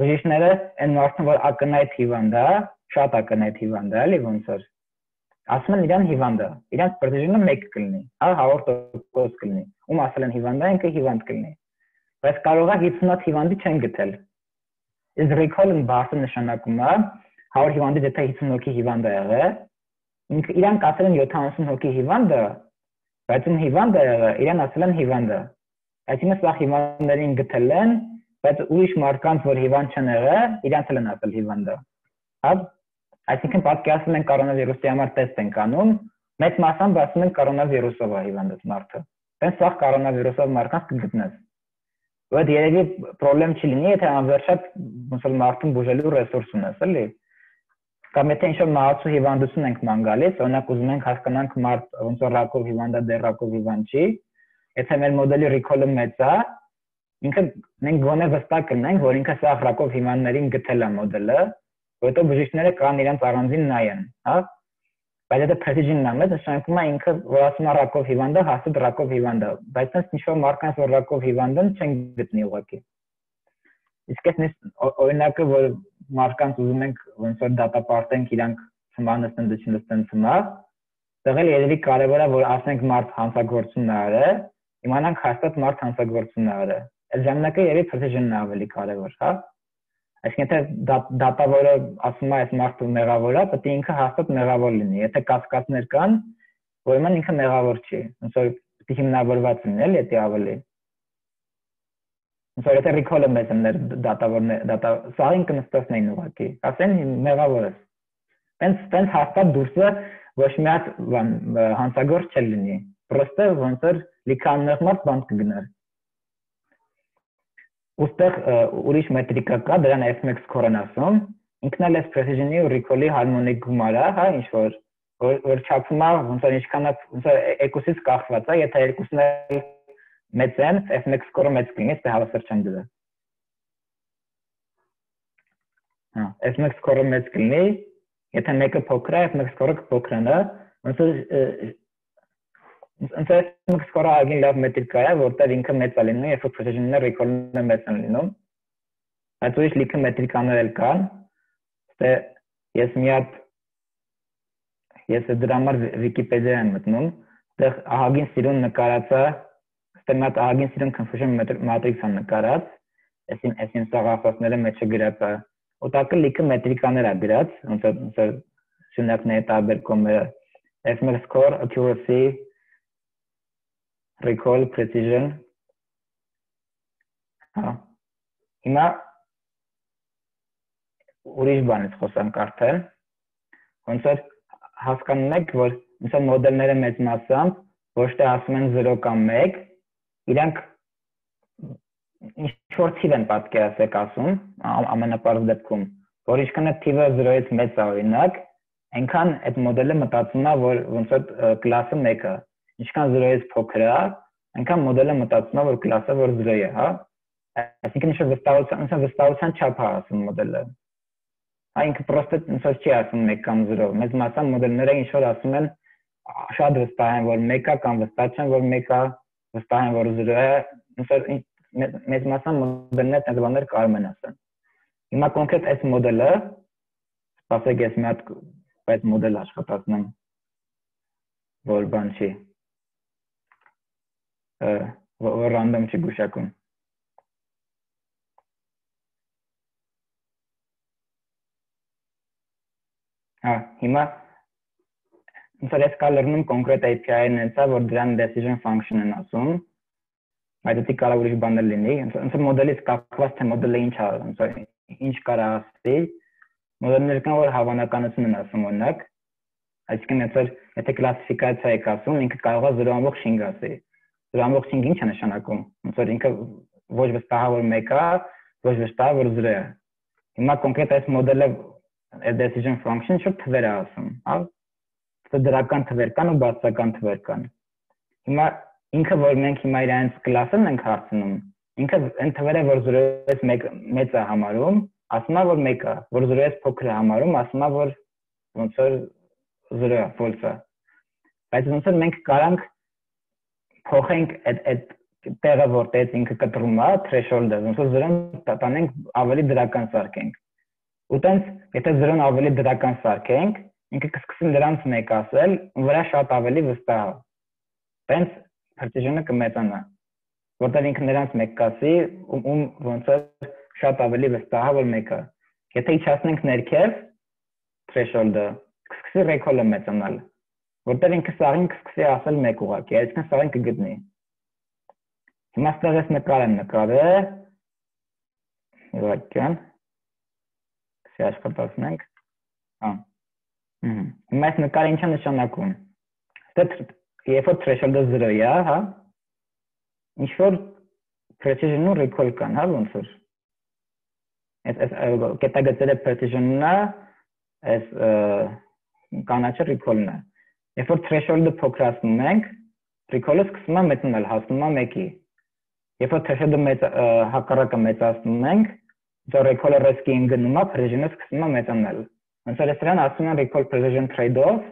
բժիշկները այն մարդուն, որ ակնհայտ հիվանդ է, շատ ակնհայտ հիվանդ է, էլի ոնց որ ասում են իրան հիվանդ է, իրանց precision-ը մեկ կլինի, հա, հարյուր տոկոս կլինի, ում ասել են հիվանդ է, ինքը հիվանդ կլինի, բայց կարող է հիսունհոտ հիվանդի չեն գտել։ Is recall-ն բարձր նշանակում է հարյուր հիվանդից եթե հիսուն հոգի հիվանդ է եղել, ինքը իրանք ասել են յոթանասուն հոգի հիվանդ է, բայց ում հիվանդ է եղել, իրան ասել են հիվանդ է։ Այսինքն սա հիվանդներին գտել են, բայց ուրիշ մարդկանց, որ հիվանդ չեն եղել, իրանց էլ են ասել հիվանդ է։ Հա, այսինքն պատկերացնում են կորոնավիրուսի համար տեստ են անում, մեծ մասամբ ասում են կորոնավիրուսով է հիվանդած մարդը։ Տենց սա կորոնավիրուսով մարդկանց կգտնես։ Բայց երևի խնդրեմ չի լինի, եթե անվերջատ ոնց որ մարդուն բուժելու ռեսուրս ունես, էլի։ Կամ եթե ինչ-որ մահացու հիվանդություն ենք ման գալիս, օրինակ ուզում ենք հասկանանք մարդ ոնց որ ռակով հիվանդ է, դեռ ռակով հիվանդ չի, եթե մեր մոդելի recall-ը մեծ է, ինքը մենք գոնե վստահ կլինենք, որ ինքը սա ռակով հիվանդներին գտել է մոդելը, որտեղ բժիշկները կան իրենց առանձին նայեն, հա։ Բայց եթե precision-ն է մեծ, նշանակում է ինքը որ ասում է ռակով հիվանդ է, հաստատ ռակով հիվանդ է, բայց այնց ինչ-որ մարդկանց որ ռակով հիվանդ են, չեն գտնի ուղղակի։ Իսկ այս օրինակը, որ մարդկանց ուզում ենք ոնց որ դատապարտենք իրանք ծնվանից ընդդություն լստեն ծնա, դեղել երևի կարևոր է, որ ասենք մարդ հանցագործություն է արել, իմանանք հաստատ մարդ հանցագործություն է արել։ Այդ ժամանակը երևի precision-ն է ավելի կարևոր, հա։ Այսինքն եթե դատավորը ասում է այս մարդը մեղավոր է, պետք է ինքը հաստատ մեղավոր լինի։ Եթե կասկածներ կան, ուրեմն ինքը մեղավոր չի։ Ոնց որ պետք է հիմնավորված լինի, էլի դա ավելի։ Ոնց որ եթե recall-ը մեծ է դատավորն դատա սա ինքը նստածնային ուղղակի, ասեն մեղավոր է։ Տենց տենց հաստատ դուրսը ոչ մի հատ հանցագործ չլինի։ Պրոստը ոնց որ լիքաններ մարդ բանտ կգներ։ Ուստեղ ուրիշ մետրիկա կա, դրան F M X score-ն ասում, ինքն էլ է precision-ի ու recall-ի հարմոնիկ գումարը, հա, ինչ որ որ չափում է, ոնց որ ինչքան է, ոնց որ երկուսից կախված է, եթե երկուսն էլ մեծ են, F M X score-ը մեծ կլինի, դե հավասար չեն դրա։ Հա, F M X score-ը մեծ կլինի, եթե մեկը փոքր է, F M X score-ը կփոքրանա, ոնց որ Ընդ F M X score-ը ագին լավ մետրիկա է, որտեղ ինքը մեծ է լինում, երբ որ precision-ը recall-ը մեծ է լինում։ Բայց ուրիշ լիքը մետրիկաներ էլ կան, դե ես մի հատ ես դրա համար Wikipedia եմ մտնում, դեռ ահագին սիրուն նկարած է, դե մի հատ ահագին սիրուն confusion matrix-ը նկարած, այսին այսին սաղախոսները մեջը գրած է, օտակը լիքը մետրիկաներ է գրած, ոնց որ շունակների տարբերակները F M X score, accuracy, recall, precision, հա, հիմա ուրիշ բանից խոսանք արդեն, ոնց որ հասկանում եք, որ ոնց որ մոդելները մեծ մասամբ ոչ թե ասում են զրո կամ մեկ, իրանք ինչ-որ թիվ են պատկերացեք ասում, ամենապարզ դեպքում, որ ինչքան է թիվը զրոյից մեծ է օրինակ, այնքան այդ մոդելը մտածում է, որ ոնց որ կլասը մեկ է, ինչքան զրոյից փոքր է, այնքան մոդելը մտածում է, որ կլասը որ զրո է, հա։ Այսինքն ինչ-որ վստահության, ինչ-որ վստահության չափ է ասում մոդելը։ Հա, ինքը պրոստը ինչ որ չի ասում մեկ կամ զրո, մեծ մասամբ մոդելները ինչ որ ասում են շատ վստահ են, որ մեկ է կամ վստահ չեն, որ մեկ է, վստահ են, որ զրո է, ինչ որ մեծ մասամբ մոդելները այդ բաներ կարող են ասել։ Հիմա կոնկրետ այս մոդելը, սպասեք ես մի հատ այդ մոդել աշխատացնեմ, որ բան չի, որ random չի գուշակում։ Հա, հիմա ոնց որ ես կա լրնում կոնկրետ A P I-ն հենց է, որ դրան decision function են ասում, այդ դի կարող ուրիշ բաներ լինի, ոնց որ մոդելից կապված թե մոդելը ինչ է, ոնց որ ինչ կարա ասի, մոդելներ կան, որ հավանականություն են ասում օրինակ, այսինքն եթե եթե կլասիֆիկացիա եք ասում, ինքը կարող է zero point five ասի։ zero point five ինչ է նշանակում, ոնց որ ինքը ոչ վստահ որ մեկ է, ոչ վստահ որ zero է։ Հիմա կոնկրետ այս մոդելը decision function շուտ թվեր է ասում, հա։ Դա դրական թվեր կան ու բացական թվեր կան։ Հիմա ինքը որ մենք հիմա իրանց կլասն ենք հարցնում, ինքը այն թվերը որ zero-ից մեծ է համարում, ասում է որ մեկ է, որ zero-ից փոքր է համարում, ասում է որ ոնց որ zero է, false է։ Բայց ոնց որ մենք կարանք փոխենք այդ այդ տեղը որտեղից ինքը կտրում է, threshold-ը, ոնց որ zero-ն տանենք ավելի դրական սարքենք։ Ու տենց, եթե zero-ն ավելի դրական սարքենք, ինքը կսկսի դրանց մեկ ասել, ու վրա շատ ավելի վստահ է։ Տենց precision-ը կմեծանա, որտեղ ինքը նրանց մեկ կասի, ում ոնց որ շատ ավելի վստահ է որ մեկը։ Եթե իջացնենք ներքև threshold-ը, կսկսի recall-ը մեծանալ, որտեղ ինքը սաղին կսկսի ասել մեկ ուղղակի, այսինքն սաղին կգտնի։ Հիմա ստեղ ես նկար եմ նկարել, իվակյան, կսի աշխատացնենք, հա, հիմա այս նկարը ինչ է նշանակում, երբ որ threshold-ը zero է, հա, ինչ-որ precision ու recall կան, հա, ոնց որ, այս կետագծերը precision-ն է, այս կանաչը recall-ն է, երբ որ threshold-ը փոքրացնում ենք, recall-ը սկսում է մեծանալ, հասնում է մեկի։ Երբ որ threshold-ը հակառակը մեծացնում ենք, դա recall-ը risk-ին գնում է, precision-ը սկսում է մեծանալ։ Ոնց որ դրան ասում են recall precision trade-off,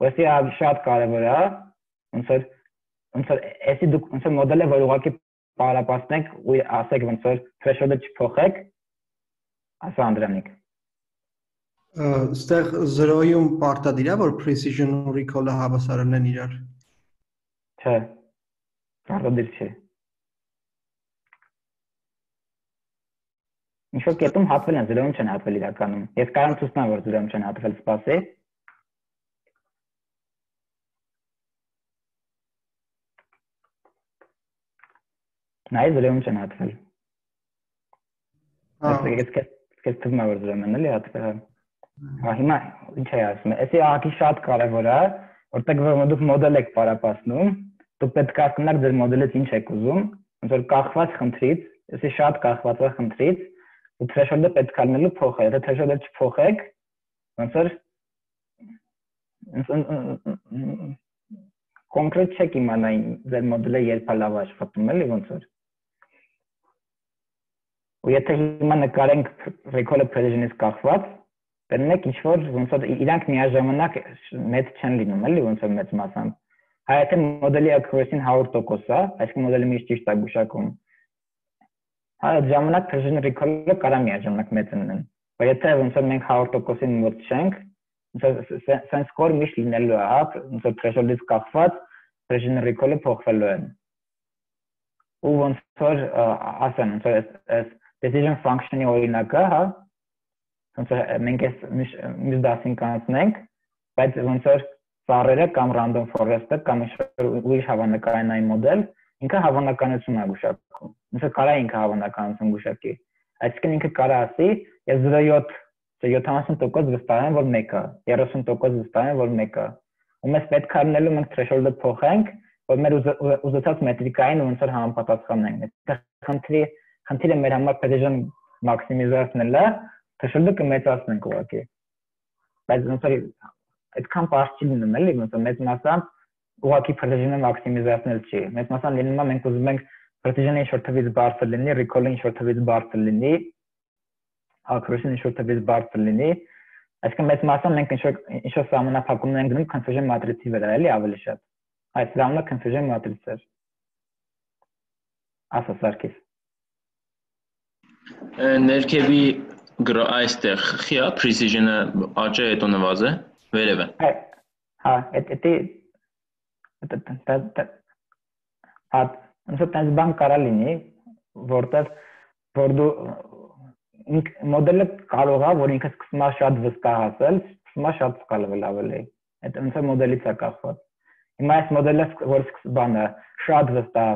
որի շատ կարևոր է, ոնց որ ոնց որ էսի դուք ոնց որ մոդելը որ ուղղակի պարապացնեք ու ասեք ոնց որ threshold-ը չփոխեք, ասա Անդրանիկ։ Ստեղ zero-ում պարտադիր է, որ precision ու recall-ը հավասարն են իրար։ Չէ, պարտադիր չէ։ Ինչ-որ կետում հատվել են, zero-ում չեն հատվել իրականում։ Ես կարող եմ ցույց որ zero-ում չեն հատվել, սպասի։ Նայ zero-ում չեն հատվել։ Ես թվում է որ zero-ում են էլի հատվել։ Հա հիմա ինչ է ասում։ Էսի ահագի շատ կարևոր է, որտեղ որ դուք մոդել եք պարապացնում, դուք պետք է հասկանաք ձեր մոդելից ինչ եք ուզում, ոնց որ կախված խնդրից, էսի շատ կախված է խնդրից, ու threshold-ը պետք է լինելու փոխել, եթե threshold-ը չփոխեք, ոնց որ կոնկրետ չեք իմանա ձեր մոդելը երբ է լավ աշխատում, էլի ոնց որ։ Ու եթե հիմա նկարենք recall-ը precision-ից կախված, Բերնեք ինչ-որ ոնց որ իրանք միաժամանակ մեծ չեն լինում, էլի ոնց որ մեծ մասամբ։ Հայ եթե մոդելի accuracy-ն հարյուր տոկոս է, այսինքն մոդելը միշտ ճիշտ է գուշակում։ Այդ ժամանակ precision recall-ը կարա միաժամանակ մեծ լինեն։ Բայց եթե ոնց որ մենք հարյուր տոկոսին մոտ չենք, ոնց որ sense score միշտ լինելու է, հա, ոնց որ threshold-ից կախված precision recall-ը փոխվելու է։ Ու ոնց որ ասեմ, ոնց որ այս decision function-ի օրինակը, հա, ոնց որ մենք այս մյուս դասին կանցնենք, բայց ոնց որ ծառերը կամ random forest-ը կամ ուրիշ հավանականային մոդել, ինքը հավանականություն է գուշակում։ Ոնց որ կարա ինքը հավանականություն գուշակի։ Այսինքն ինքը կարա ասի, ես zero point seven յոթանասուն տոկոս վստահ եմ, որ մեկ է, երեսուն տոկոս վստահ եմ, որ մեկ է։ Ու մենք պետք է լինելու մենք threshold-ը փոխենք, որ մեր ուզեցած մետրիկային ոնց որ համապատասխանենք։ Խնդրի խնդիրը մեր համար precision մաքսիմիզացնելն է, threshold-ը կմեծացնենք ուղղակի։ Բայց ոնց որ այդքան բարձր չի լինում, էլի, ոնց որ մեծ մասամբ ուղղակի precision-ը մաքսիմիզացնել չի։ Մեծ մասամբ լինում է մենք ուզում ենք precision-ը ինչ-որ թվից բարձր լինի, recall-ը ինչ-որ թվից բարձր լինի, accuracy-ը ինչ-որ թվից բարձր լինի։ Այսինքն մեծ մասամբ մենք ինչ-որ ինչ-որ սահմանափակումներ ենք գնում confusion matrix-ի վրա, էլի ավելի շատ։ Այս դրանն է confusion matrix-ը։ Ասա Սարգիս։ Ներքևի այստեղ խիա precision-ը աճը հետո նվազ է, վերև է։ Հա, էդի հա, ոնց որ տես բան կարա լինի, որտեղ որ դու մոդելը կարող է, որ ինքը սկսում է շատ վստահ ասել, սկսում է շատ սխալվել ավելի։ այդ ոնց է մոդելից է կախված։ Հիմա այս մոդելը որ բանը շատ վստահ,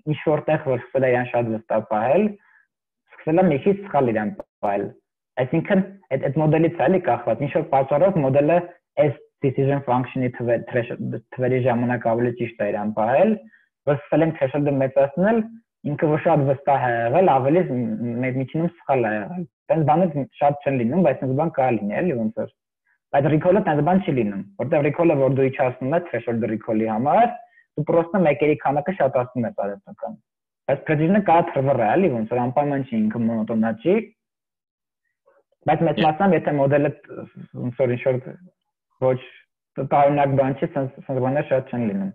ինչ որտեղ որ սկսել է իրան շատ վստահ պահել, սկսել է մեկից սխալ իրան պահել։ Այսինքն այդ այդ մոդելից է կախված, ինչ որ պատճառով մոդելը այս decision function-ի թվերի ժամանակ ավելի ճիշտ է իրան պահել, որ սկսել ենք threshold-ը մեծացնել, ինքը որ շատ վստահ է եղել, ավելի միջինում սխալ է եղել։ Այս բանը շատ չեն լինում, բայց այս բան կա լինի, էլի ոնց որ։ Բայց recall-ը այս բան չի լինում, որտեղ recall-ը որ դու իջացնում ես threshold recall-ի համար, դու պրոստը մեկերի քանակը շատացնում ես արեցական։ Բայց precision-ը կա թրվռ է, էլի ոնց որ անպայման չի ինքը մոնոտոնա չի։ Բայց մեծ մասամբ եթե մոդելը ոնց որ ինչ-որ ոչ տարօրինակ բան չի, sense բաներ շատ չեն լինում։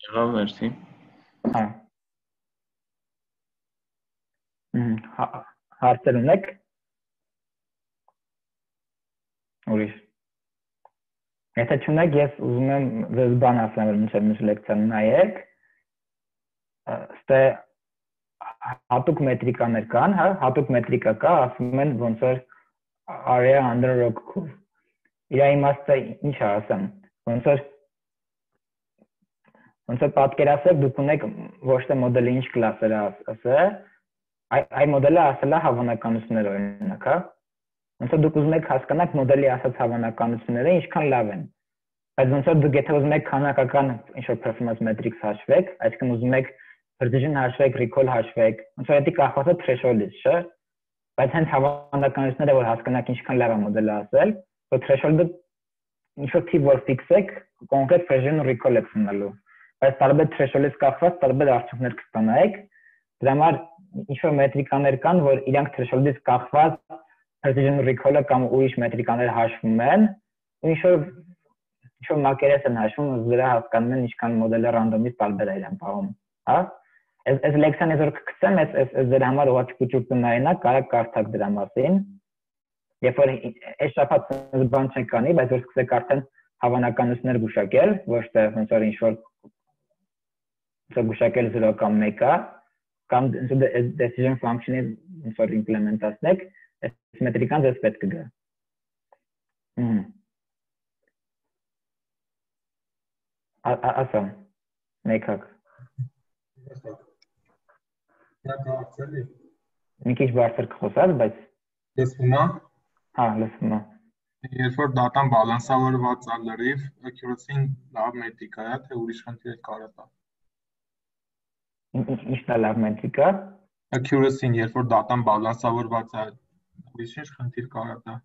Եղավ, մերսի։ Հա։ Հմ, հարցեր ունեք։ Ուրիշ։ Եթե չունեք, ես ուզում եմ ձեզ բան ասեմ, որ մինչև մյուս լեկցիան նայեք։ Ստե հատուկ մետրիկաներ կան, հա, հատուկ մետրիկա կա, ասում են ոնց որ area under rock curve։ Իր իմաստը ինչ է ասեմ, ոնց որ ոնց որ պատկերացրեք դուք ունեք ոչ թե մոդելը ինչ կլասեր է ասել, այ մոդելը ասել է հավանականություններ օրինակ, հա։ Ոնց որ դուք ուզում եք հասկանալ մոդելի ասած հավանականությունները ինչքան լավ են։ Բայց ոնց որ դուք եթե ուզում եք քանակական ինչ-որ performance metrics հաշվեք, այսինքն ուզում եք precision հաշվեք, recall հաշվեք, ոնց որ դա կախված է threshold-ից, չէ՞։ Բայց հենց հավանականությունները որ հասկանաք ինչքան լավ է մոդելը ասել, որ threshold-ը ինչ-որ թիվ որ ֆիքսեք, կոնկրետ precision recall եք ունենալու։ Բայց տարբեր threshold-ից կախված տարբեր արդյունքներ կստանայեք։ Դրա համար ինչ-որ մետրիկաներ կան, որ իրանք threshold-ից կախված precision recall-ը կամ ուրիշ մետրիկաներ հաշվում են, ու ինչ-որ ինչ-որ մակերես են հաշվում, ու դրա հասկանում են ինչքան մոդելը ռանդոմից տարբեր է իրեն պահում, հա։ Այս այս լեկցիան ես որ կգցեմ, այս այս դրա համար ուղղակի կուճուկ տնայինա, կարա կարդաք դրա մասին։ Երբ որ այս շաբաթ բան չենք անի, բայց որ սկսեք արդեն հավանականություններ գուշակել, ոչ թե ոնց որ ինչ-որ ոնց գուշակել զրո կամ մեկը, կամ decision function-ը ոնց որ իմպլեմենտացնեք, այս մետրիկան ձեզ պետք է գա։ Հմ։ Ասա։ Մեկակ։ Դա կարծելի։ Մի քիչ բարձր կխոսած, բայց լսվում է։ Հա, լսվում է։ Երբ որ դատան բալանսավորված է լրիվ, accuracy-ն լավ մետրիկա է, թե ուրիշ խնդիր կարող է։ Ի՞նչն է լավ մետրիկա։ Accuracy-ն, երբ որ դատան բալանսավորված է, ուրիշ ինչ խնդիր կարող է։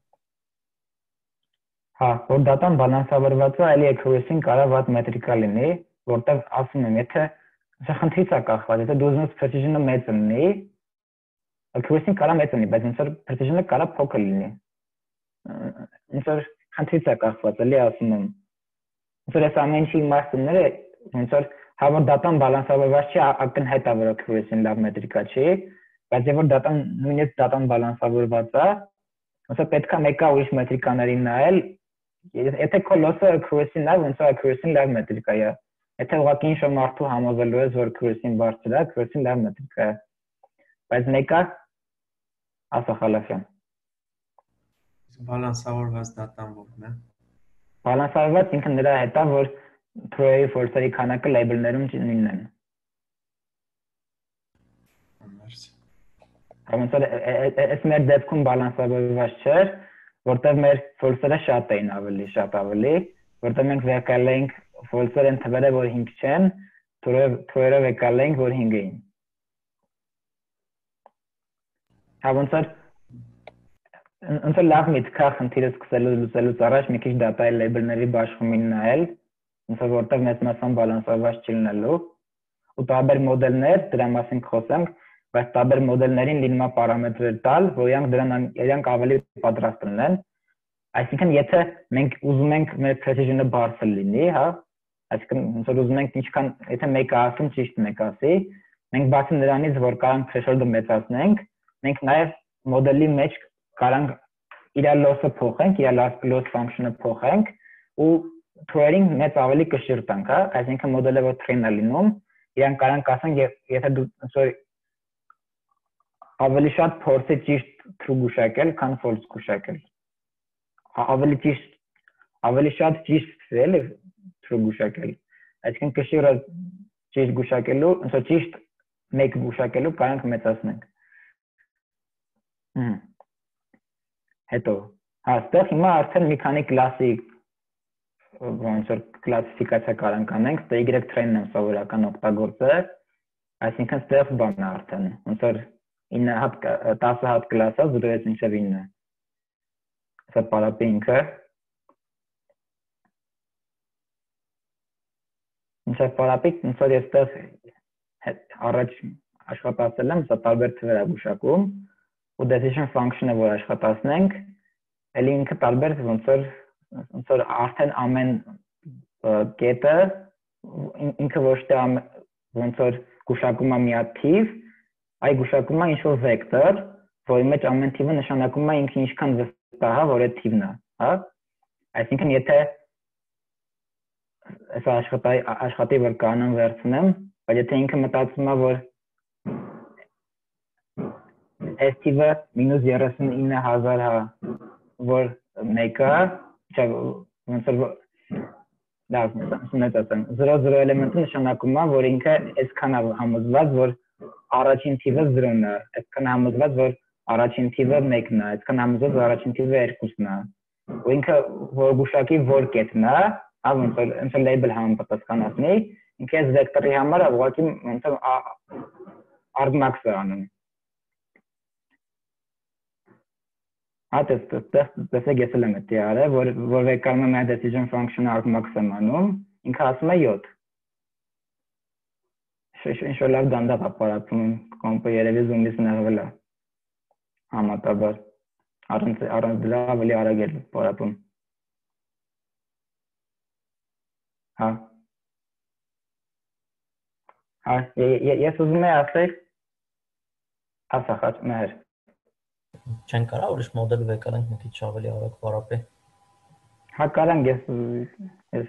Հա, որ դատան բալանսավորված է, այլի accuracy-ն կարող է վատ մետրիկա լինի, որտեղ ասում եմ, եթե սա խնդրից է կախված, եթե դու ուզում ես precision-ը մեծ լինի, accuracy-ն կարող է մեծ լինի, բայց ոնց որ precision-ը կարող է փոքր լինի։ Ոնց որ խնդրից է կախված, էլի ասում եմ։ Ոնց որ այս ամեն ինչի իմաստները, ոնց որ հա որ դատան բալանսավորված չի, ակնհայտ է որ accuracy-ն լավ մետրիկա չի, բայց երբ որ դատան նույնիսկ դատան բալանսավորված է, ոնց որ պետք է մեկը ուրիշ մետրիկաներին նայել, եթե քո loss-ը accuracy-ն է, ոնց որ accuracy-ն լավ մետրիկա է։ Եթե ուղղակի ինչ-որ մարդու համոզելու ես, որ accuracy-ն բարձր է, accuracy-ն լավ մետրիկա է։ Բայց մեկը ասա Խալաֆյան։ Բալանսավորված դատան ո՞րն է։ Բալանսավորված ինքը նրա հետ է, որ true-ի false-երի քանակը label-ներում նույնն են։ Մերսի։ Ոնց որ այս մեր դեպքում բալանսավորված չէր, որտեղ մեր false-երը շատ էին ավելի, շատ ավելի, որտեղ մենք վեկալ էինք false-երը են թվերը, որ հինգ չեն, true-երը վեկալ էինք, որ հինգ էին։ Հա ոնց որ ոնց որ լավ միտք է խնդիրը սկսելու լուծելուց առաջ մի քիչ data-ի label-ների բաշխումին նայել, ոնց որ որտեղ մեծ մասամբ բալանսավորված չի լինելու, ու տարբեր մոդելներ, դրա մասին կխոսենք, բայց տարբեր մոդելներին լինում է պարամետրեր տալ, որ իրանք դրան իրանք ավելի պատրաստ լինեն։ Այսինքն եթե մենք ուզում ենք մեր precision-ը բարձր լինի, հա, այսինքն ոնց որ ուզում ենք ինչքան, եթե մեկը ասում ճիշտ մեկ ասի, մենք բացի նրանից, որ կարանք threshold-ը մեծացնենք, մենք նաև մոդելի մեջ կարանք իր loss-ը փոխենք, իր loss function-ը փոխենք ու true-ին մեծ ավելի կշիռ տանք, հա, այսինքն մոդելը որ train-ը լինում, իրանք կարանք ասենք, եթե դու ոնց որ ավելի շատ փորձի ճիշտ true գուշակել, քան false գուշակել։ Ավելի ճիշտ ավելի շատ ճիշտ էլի true գուշակել։ Այսինքն կշիռը ճիշտ գուշակելու, ոնց որ ճիշտ մեկ գուշակելու կարանք մեծացնենք։ Հմ։ Հետո, հա, այստեղ հիմա արդեն մի քանի կլասի ոնց որ կլասիֆիկացիա կարանք անենք, ստե y train-ն եմ սովորական օգտագործել, այսինքն ստեղ բանն է արդեն, ոնց որ ինը հատ տասը հատ կլաս է, զրոյից մինչև ինը։ Սա պարապի ինքը։ Մինչև պարապի, ոնց որ ես ստեղ առաջ աշխատացել եմ, սա տարբեր թվեր է գուշակում, ու decision function-ը որ աշխատացնենք, էլի ինքը տարբեր ոնց որ ոնց որ արդեն ամեն կետը ինքը ոչ թե ոնց որ գուշակում է մի հատ թիվ, այլ գուշակում է ինչ-որ վեկտոր, որի մեջ ամեն թիվը նշանակում է ինքը ինչքան վստահ է, որ այդ թիվն է, հա։ Այսինքն եթե այս աշխատի աշխատի որ կանոն վերցնեմ, բայց եթե ինքը մտածում է, որ այս թիվը մինուս երեսունինը հազար հա, որ մեկը, չէ, ոնց որ լավ, ասենք ասեմ, զրո զրո էլեմենտը նշանակում է, որ ինքը այսքան է համոզված, որ առաջին թիվը զրոն է, այսքան համոզված, որ առաջին թիվը մեկն է, այսքան համոզված, որ առաջին թիվը երկուսն է։ Ու ինքը որ գուշակի որ կետն է, հա, ոնց որ ոնց որ label համապատասխանացնի, ինքը այս վեկտորի համար ուղղակի ոնց որ argmax-ը անում։ Հա, տեսեք ես էլ եմ դա արել, որ որ վեկտորում եմ decision function argmax եմ անում, ինքը ասում է յոթ։ Ինչ-որ լավ դանդաղ է պարապում, կոմպը երևի զումից նեղվել է։ Համատաբար, առանց առանց դրա ավելի արագ է պարապում։ Հա։ Հա, ես ուզում եմ ասել, ասա խաչ մեր։ Չեն կարա ուրիշ մոդել վեկարանք մի քիչ ավելի արագ պարապի։ Հա, կարանք ես ես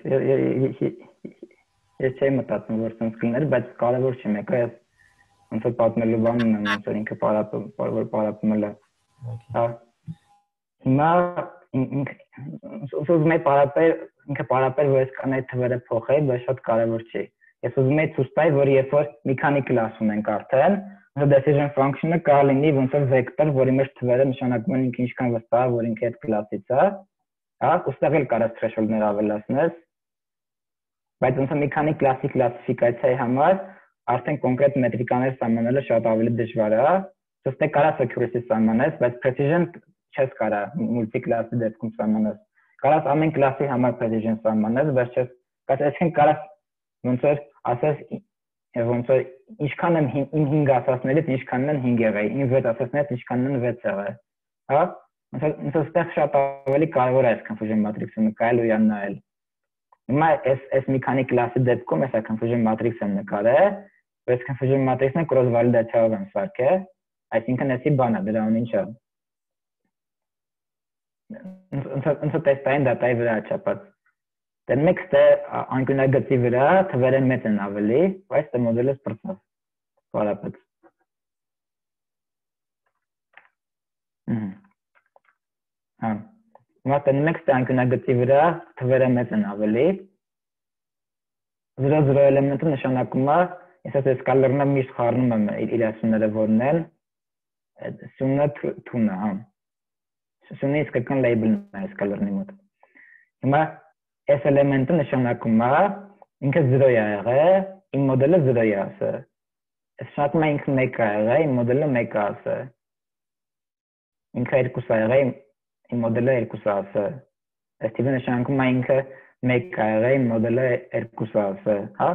ես չեմ մտածում որ sense կլներ, բայց կարևոր չէ, մեկը ես ոնց որ պատմելու բանն եմ, ոնց որ ինքը պարապում, որ պարապում է։ Հա։ Հիմա ուզում եմ պարապել, ինքը պարապել, որ այսքան այդ թվերը փոխել, բայց շատ կարևոր չի։ Ես ուզում եմ ցույց տալ, որ երբ որ մի քանի կլաս ունենք արդեն, ոնց decision function-ը կարող լինի ոնց որ վեկտոր, որի մեջ թվերը նշանակում են ինքը ինչքան վստահ է, որ ինքը այդ կլասից է, հա, ուստեղ էլ կարաս threshold-ներ ավելացնես, բայց ոնց որ մի քանի կլասի կլասիֆիկացիայի համար արդեն կոնկրետ մետրիկաներ սահմանելը շատ ավելի դժվար է, ըստեղ կարաս accuracy սահմանես, բայց precision չես կարա multi-class-ի դեպքում սահմանես։ Կարաս ամեն կլասի համար precision սահմանես, բայց չես, բայց այսինքն կարաս ոնց որ ասես ոնց որ ինչքան եմ իմ հինգ ասածներից ինչքանն են հինգ եղել, իմ վեց ասածներից ինչքանն են վեց եղել։ Հա? Ոնց որ այստեղ շատ ավելի կարևոր է այս confusion matrix-ը նկարել ու նայել։ Հիմա այս այս մի քանի կլասի դեպքում այս confusion matrix-ը նկարել, այս confusion matrix-ը cross validation-ով եմ սարքել, այսինքն էսի բանը դրան ինչ է։ Ոնց որ տեստային դատայի վրա չափած։ Դե մեկ ստե անկյունագծի վրա թվերը մեծ են ավելի, բայց դե մոդելը սպրծավ։ Պարապեց։ Հմ։ Հա։ Հիմա դե մեկ ստե անկյունագծի վրա թվերը մեծ են ավելի։ Զրո զրո էլեմենտը նշանակում է, ես այս սկալերնը միշտ խառնում եմ իր ասումները որն են, սյունը թունը, հա։ Սյունը իսկական label-ն է սկալերնի մոտ։ Հիմա այս էլեմենտը նշանակում է ինքը զրո է եղել, իմ մոդելը զրո է ասել։ Այս նշանակում է ինքը մեկ է եղել, իմ մոդելը մեկ է ասել։ Ինքը երկուս է եղել, իմ մոդելը երկուս է ասել։ Այս տիպը նշանակում է ինքը մեկ է եղել, իմ մոդելը երկուս է ասել, հա։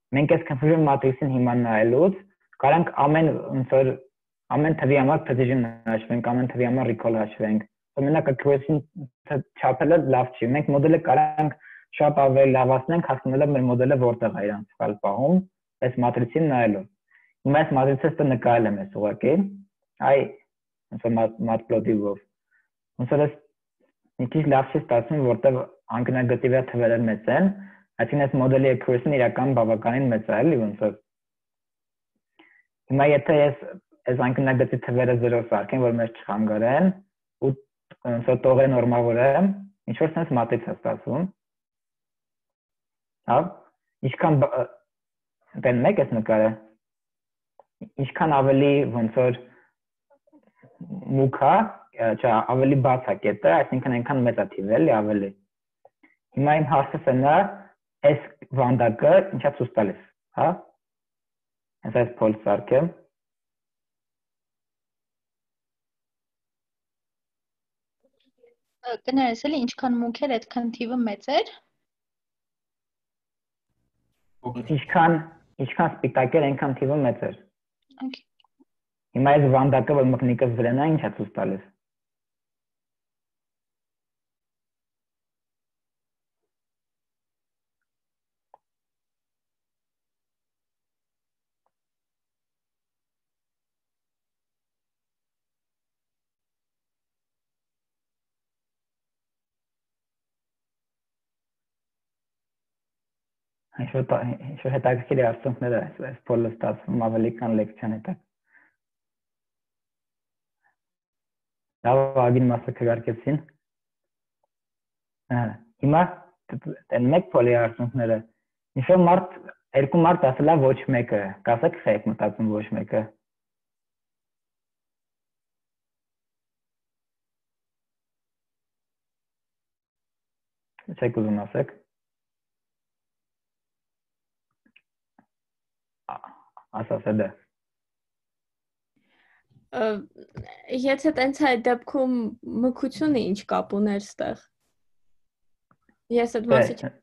Մենք այս confusion matrix-ին հիմա նայելուց կարանք ամեն ոնց որ ամեն թվի համար precision հաշվենք, ամեն թվի համար recall հաշվենք։ Մենակ accuracy-ն չափելը լավ չի։ Մենք մոդելը կարանք շատ ավելի լավացնենք, հասնելով մեր մոդելը որտեղ է իրան սխալ պահում, այս matrix-ին նայելով։ Հիմա այս matrix-ը ստե նկարել եմ ես ուղղակի։ Այ ոնց որ matplotlib-ով։ Ոնց որ մի քիչ լավ չի ստացվում, որտեղ անկյունագծի վրա թվերը մեծ են, այսինքն այս մոդելի accuracy-ն իրական բավականին մեծ է, էլի ոնց որ։ Հիմա եթե ես այս անկյունագծի թվերը զրո սարքեմ, որ մեզ չխանգարեն, ու ոնց որ տողերը նորմալորեն, ինչ որ sense matrix է ստացվում։ Հա, ինչքան դեն մեկ էս նկարը, ինչքան ավելի ոնց որ մուքա, չէ, ավելի բաց է կետը, այսինքն այնքան մեծ է թիվը, էլի ավելի։ Հիմա իմ հարցը սա այս վանդակը ինչա ցույց տալիս, հա։ Հենց այս փոլ սարքեմ։ Կներես էլի ինչքան մուք էր, այդքան թիվը մեծ էր։ Ինչքան ինչքան սպիտակ էր, այնքան թիվը մեծ էր։ Okay. Հիմա այս վանդակը, որ մկնիկս վրան է, ինչա ցույց տալիս։ Ինչ-որ հետաքրքիր արդյունքներ է այս փոլը ստացվում ավելի քան լեկցիան հետը։ Լավ, ագին մասը քվարկեցին։ Հա, հիմա այն մեկ փոլի արդյունքները։ Ինչ-որ մարդ, երկու մարդ ասել է ոչ մեկը, կասեք թե եք մտածում ոչ մեկը։ Չեք ուզում ասեք։ Ասասը դա։ Եթե տենց այդ դեպքում մկությունը ինչ կապ ուներ ստեղ։ Ես այդ մասը չեմ։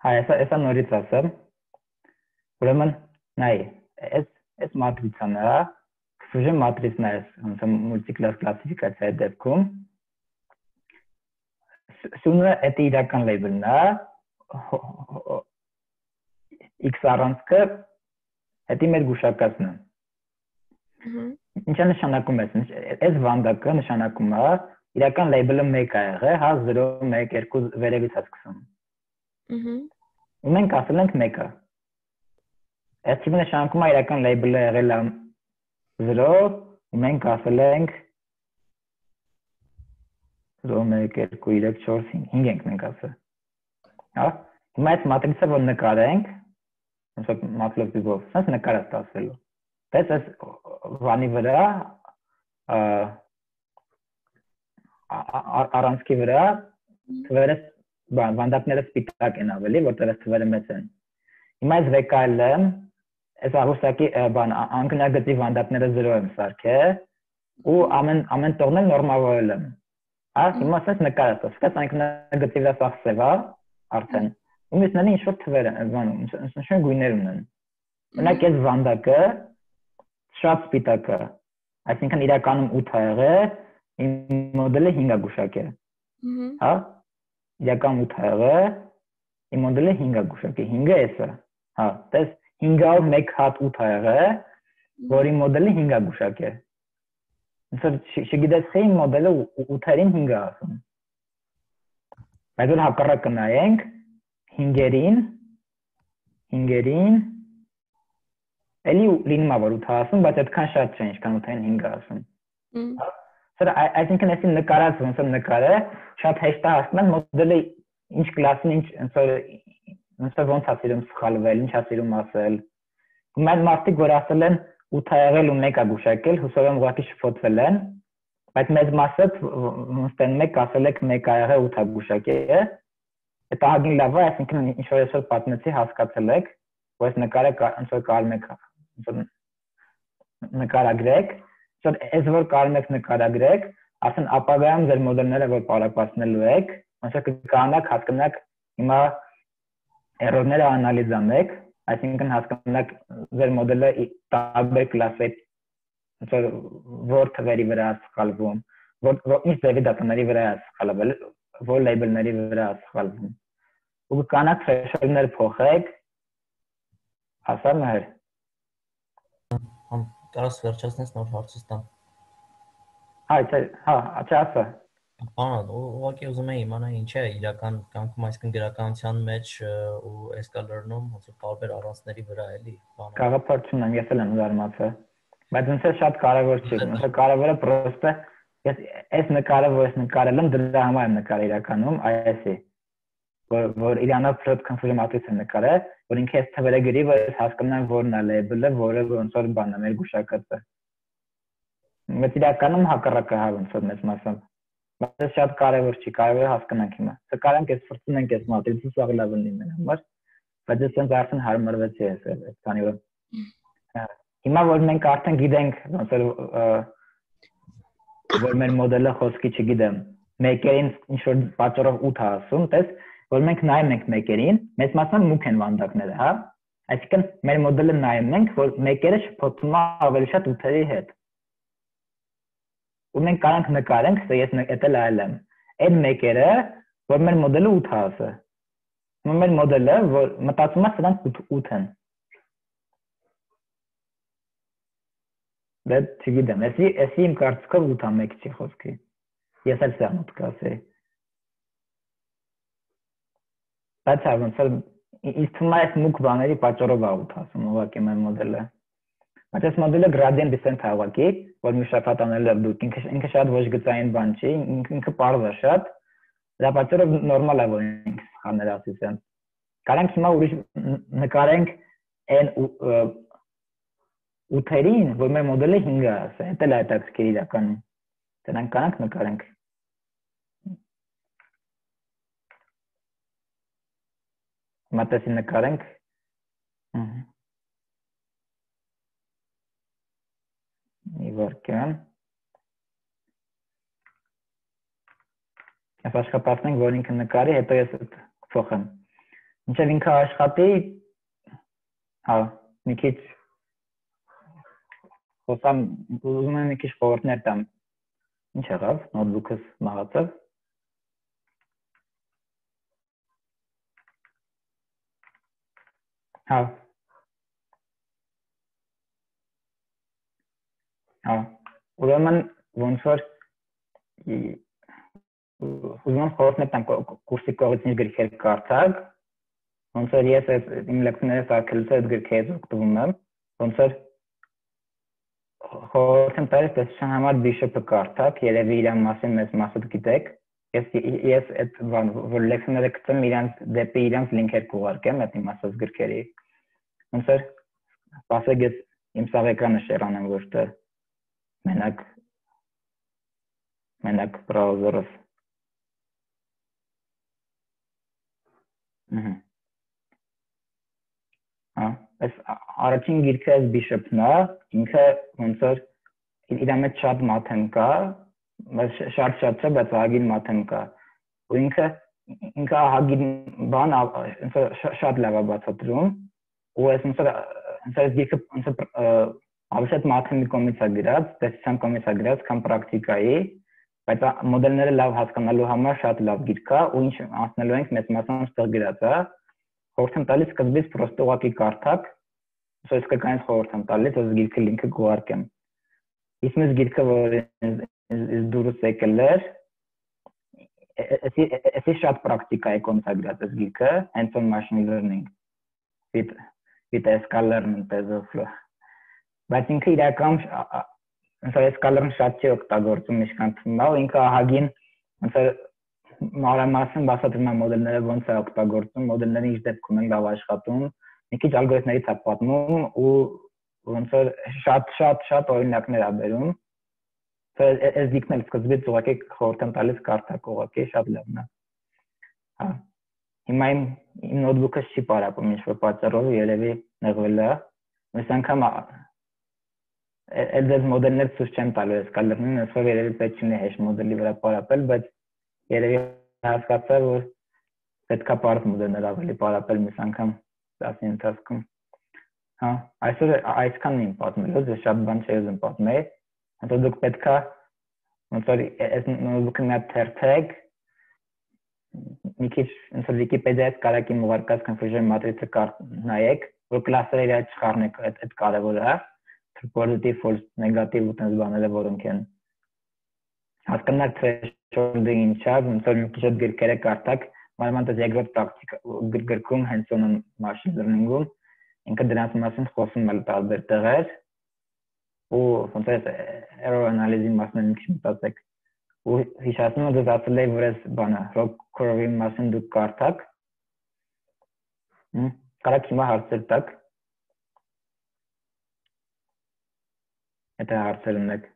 Հա, էսա էսա նորից ասեմ։ Ուրեմն, նայ, այս այս մատրիցան է, քսուժե մատրիցն է, ոնց մուլտիկլաս կլասիֆիկացիայի դեպքում։ Սունը էդ իրական լեյբլն է, x առանցքը հետի մեր գուշակածն է։ Ինչ է նշանակում է, այս վանդակը նշանակում է իրական լեյբլը մեկ է եղել, հա զրո մեկ երկու վերևից է սկսում։ Ու մենք ասել ենք մեկը։ Այս թիվը նշանակում է իրական լեյբլը եղել է զրո, ու մենք ասել ենք զրո մեկ երկու երեք չորս հինգ ենք մենք ասել։ Հա, հիմա այս մատրիցը որ նկարենք, ոնց որ մատլոբով, sense նկար է ստացվելու։ Բայց այս վանի վրա առանցքի վրա թվերը վանդակները սպիտակ են ավելի, որտեղ այս թվերը մեծ են։ Հիմա այս վեկայելը, այս աղուսակի բան անկնագծի վանդակները զրո եմ սարքել, ու ամեն ամեն տողն նորմալորել եմ։ Հա, հիմա sense նկար է ստացվել, անկնագծի վրա սաղ սև է արդեն։ Ու մյուսները ինչ-որ թվեր են, բանում, ինչ-որ գույներ ունեն։ Օրինակ այս վանդակը շատ սպիտակ է, այսինքն իրականում ութ է եղել, իմ մոդելը հինգ է գուշակել։ Հա, իրականում ութ է եղել, իմ մոդելը հինգ է գուշակել, հինգը էս է։ Հա, տես հինգով մեկ հատ ութ է եղել, որ իմ մոդելը հինգ է գուշակել։ Ոնց որ չգիտես թե իմ մոդելը ութերին հինգ է ասում։ Բայց որ հակառակը նայենք, հինգերին, հինգերին, էլի լինում է որ ութ ասում, բայց այդքան շատ չէ, ինչքան ութային հինգ ասում։ Սրա այսինքն այսին նկարած ոնց որ նկարը շատ հեշտ է հասնել մոդելը ինչ կլասին, ինչ ոնց որ ոնց որ ոնց է սիրում սխալվել, ինչ է սիրում ասել։ Հիմա այդ մարդիկ որ ասել են ութ է եղել ու մեկ է գուշակել, հուսով եմ ուղղակի շփոթվել են, բայց մեծ մասը ոնց տեն մեկ ասել եք մեկ է եղել ութ է գուշակել։ Այդ ահագին լավ է, այսինքն ինչ որ այսօր պատմեցի, հասկացել եք, որ այս նկարը ոնց որ կարում եք ոնց որ նկարագրեք, որ այս որ կարում եք նկարագրեք, ասեն ապագայում ձեր մոդելները որ պարապացնելու եք, ոնց որ կկանաք, հասկանաք հիմա էրորները անալիզ անեք, այսինքն հասկանաք ձեր մոդելը տարբեր կլասի ոնց որ որ թվերի վրա է սխալվում, որ ինչ ձևի դատաների վրա է սխալվել, որ լեյբլների վրա է սխալվում։ Ու կկանաք threshold-ներ փոխեք, հասա մեր։ Կարաս վերջացնես նոր հարցս տամ։ Հա, հա, չասա։ Բան, ուղղակի ուզում եմ իմանալ ինչ է իրական կյանքում, այսինքն գրականության մեջ ու escalar-ում ոնց որ տարբեր առանցքների վրա էլի, բանը։ Գաղափար չունեմ, ես էլ եմ զարմացել։ Բայց ինձ շատ կարևոր չի, ինձ կարևորը պրոստը Ես այս նկարը, որ ես նկարել եմ, դրա համար եմ նկարել իրականում, այսի, որ որ իրանով plot confusion matrix եմ նկարել, որ ինքը այս թվերը գրի, որ ես հասկանամ որն է label-ը, որը ոնց որ բանն է մեր գուշակածը։ Բայց իրականում հակառակը հա ոնց որ մեծ մասամբ։ Բայց շատ կարևոր չի, կարևոր է հասկանանք հիմա։ Սակայն այս ֆրցուն ենք այս matrix-ը սա լավ լինի մեր համար, բայց ես ցենց արդեն հարմարվեցի այս այս քանի որ հիմա որ մենք արդեն գիտենք ոնց որ որ մեր մոդելը խոսքի չգիտեմ, մեկերին ինչ որ պատճառով ութ է ասում, տես, որ մենք նայում ենք մեկերին, մեծ մասամբ մուք են վանդակները, հա։ Այսինքն մեր մոդելը նայում ենք, որ մեկերը շփոթվում է ավելի շատ ութերի հետ։ Ու մենք կարող ենք նկարենք, սա ես էտել այլ եմ։ Այդ մեկերը, որ մեր մոդելը ութ է ասը։ Մեր մոդելը, որ մտածում է սրանք ութ են։ Դա չգիտեմ, էսի էսի իմ կարծիքով ութ է մեկ չի խոսքի։ Ես էլ սա մոտ կասեի։ Բայց հա ոնց որ ինձ թվում է այս մուք բաների պատճառով է ութ ասում ուղղակի մեր մոդելը։ Բայց այս մոդելը gradient descent է ուղղակի, որ մի շաբաթ անելը դուք ինքը ինքը շատ ոչ գծային բան չի, ինքը պարզ է շատ։ Դա պատճառով նորմալ է որ ինքը սխալներ ասեցեն։ Կարանք հիմա ուրիշ նկարենք այն ութերին, որ մեր մոդելը հինգ է ասա, դա էլ հետաքրքիր իրականում։ Դրանք կանանք նկարենք։ Մատեսի նկարենք։ Իվարկյան։ Ես աշխատացնենք, որ ինքը նկարի, հետո ես փոխեմ։ Մինչև ինքը աշխատի, հա, մի քիչ խոսամ, ուզում եմ մի քիչ խորհուրդներ տամ։ Ինչ եղավ, նոթբուքս մահացավ։ Հա։ Հա, ուրեմն ոնց որ ուզում եմ խորհուրդներ տամ կուրսի կողմից ինչ գրքեր կարդալ, ոնց որ ես իմ լեկցիաները սարքելուց այդ գրքերից օգտվում եմ, ոնց որ խորհուրդ տալիս տեսության համար Bishop-ը կարդաք, երևի իրան մասին մեծ մասը գիտեք։ Ես ես այդ որ լեքցիաները գտեմ իրանց դեպի իրանց լինքեր կուղարկեմ այդ իմ ասած գրքերի։ Ոնց որ ասեք ես իմ սաղ էկրանը շերանեմ որտե մենակ մենակ բրաուզերով։ Ահա։ Հա, այս առաջին գիրքը այս Bishop-ն է, ինքը ոնց որ իր մեջ շատ մաթեմ կա, բայց շատ շատ չէ, բայց ահագին մաթեմ կա։ Ու ինքը ինքը ահագին բան ոնց որ շատ լավ է բացատրում, ու այս ոնց որ ոնց որ գիրքը ոնց որ ավելի մաթեմի կողմից է գրած, տեսության կողմից է գրած, քան պրակտիկայի, բայց մոդելները լավ հասկանալու համար շատ լավ գիրք է, ու ինչ անցնելու ենք մեծ մասամբ ստեղ գրած է։ Խորհուրդ եմ տալիս սկզբից պրոստը ուղղակի կարդաք, ուսո իսկականից խորհուրդ եմ տալիս, ես գիրքը լինքը կուղարկեմ։ Իսկ մեզ գիրքը, որ ես դուրս եկել էր, էսի շատ պրակտիկա է կոնցագրած ես գիրքը, hands-on machine learning, with, with Scala-ն տեզոֆլո։ Բայց ինքը իրական, ոնց որ Scala-ն շատ չի օգտագործում ինչքան թվում է, ու ինքը ահագին, ոնց որ մանրամասն բացատրում է մոդելները ոնց է օգտագործում, մոդելները ինչ դեպքում են լավ աշխատում, մի քիչ ալգորիթմներից է պատմում ու ոնց որ շատ շատ շատ օրինակներ է բերում։ Այս դիքն էլ սկզբից ուղղակի խորհուրդ եմ տալիս կարդաք ուղղակի շատ լավն է։ Հա։ Հիմա իմ իմ նոթբուքը չի պարապում ինչ-որ պատճառով երևի նեղվել է։ Այս անգամ այդ մոդելներ ցույց չեմ տալու այս կալերնին, այս որ երևի պետք չի hash մոդելի վրա պարապել, բայց երևի հասկացա, որ պետքա պարզ մոդելներ ավելի պարապել մյուս անգամ դասի ընթացքում։ Հա, այսօր այսքանն եմ պատմելու, ես շատ բան չի ուզում պատմել, հետո դուք պետքա ոնց որ այս նոթբուքը մի հատ թերթեք, մի քիչ ոնց որ Wikipedia-ից կարաք իմ ուղարկած confusion matrix-ը նայեք, որ կլասերը իրար չխառնեք, այդ կարևոր է, positive, false, negative ու տենց բաները որոնք են։ Հասկանալ threshold-ը ինչ է, ոնց որ մի քիչ այդ գրքերը կարդաք, մանավանդ երկրորդ պրակտիկա գրքում hands-on machine learning-ում ինքը դրանց մասին խոսում է տարբեր տեղեր ու ոնց է error analysis-ի մասն մի քիչ մտածեք։ ու հիշացնում եմ դուք ասել եք որ այս բանը rock curve-ի մասին դուք կարդաք կարաք հիմա հարցեր տաք եթե հարցեր ունեք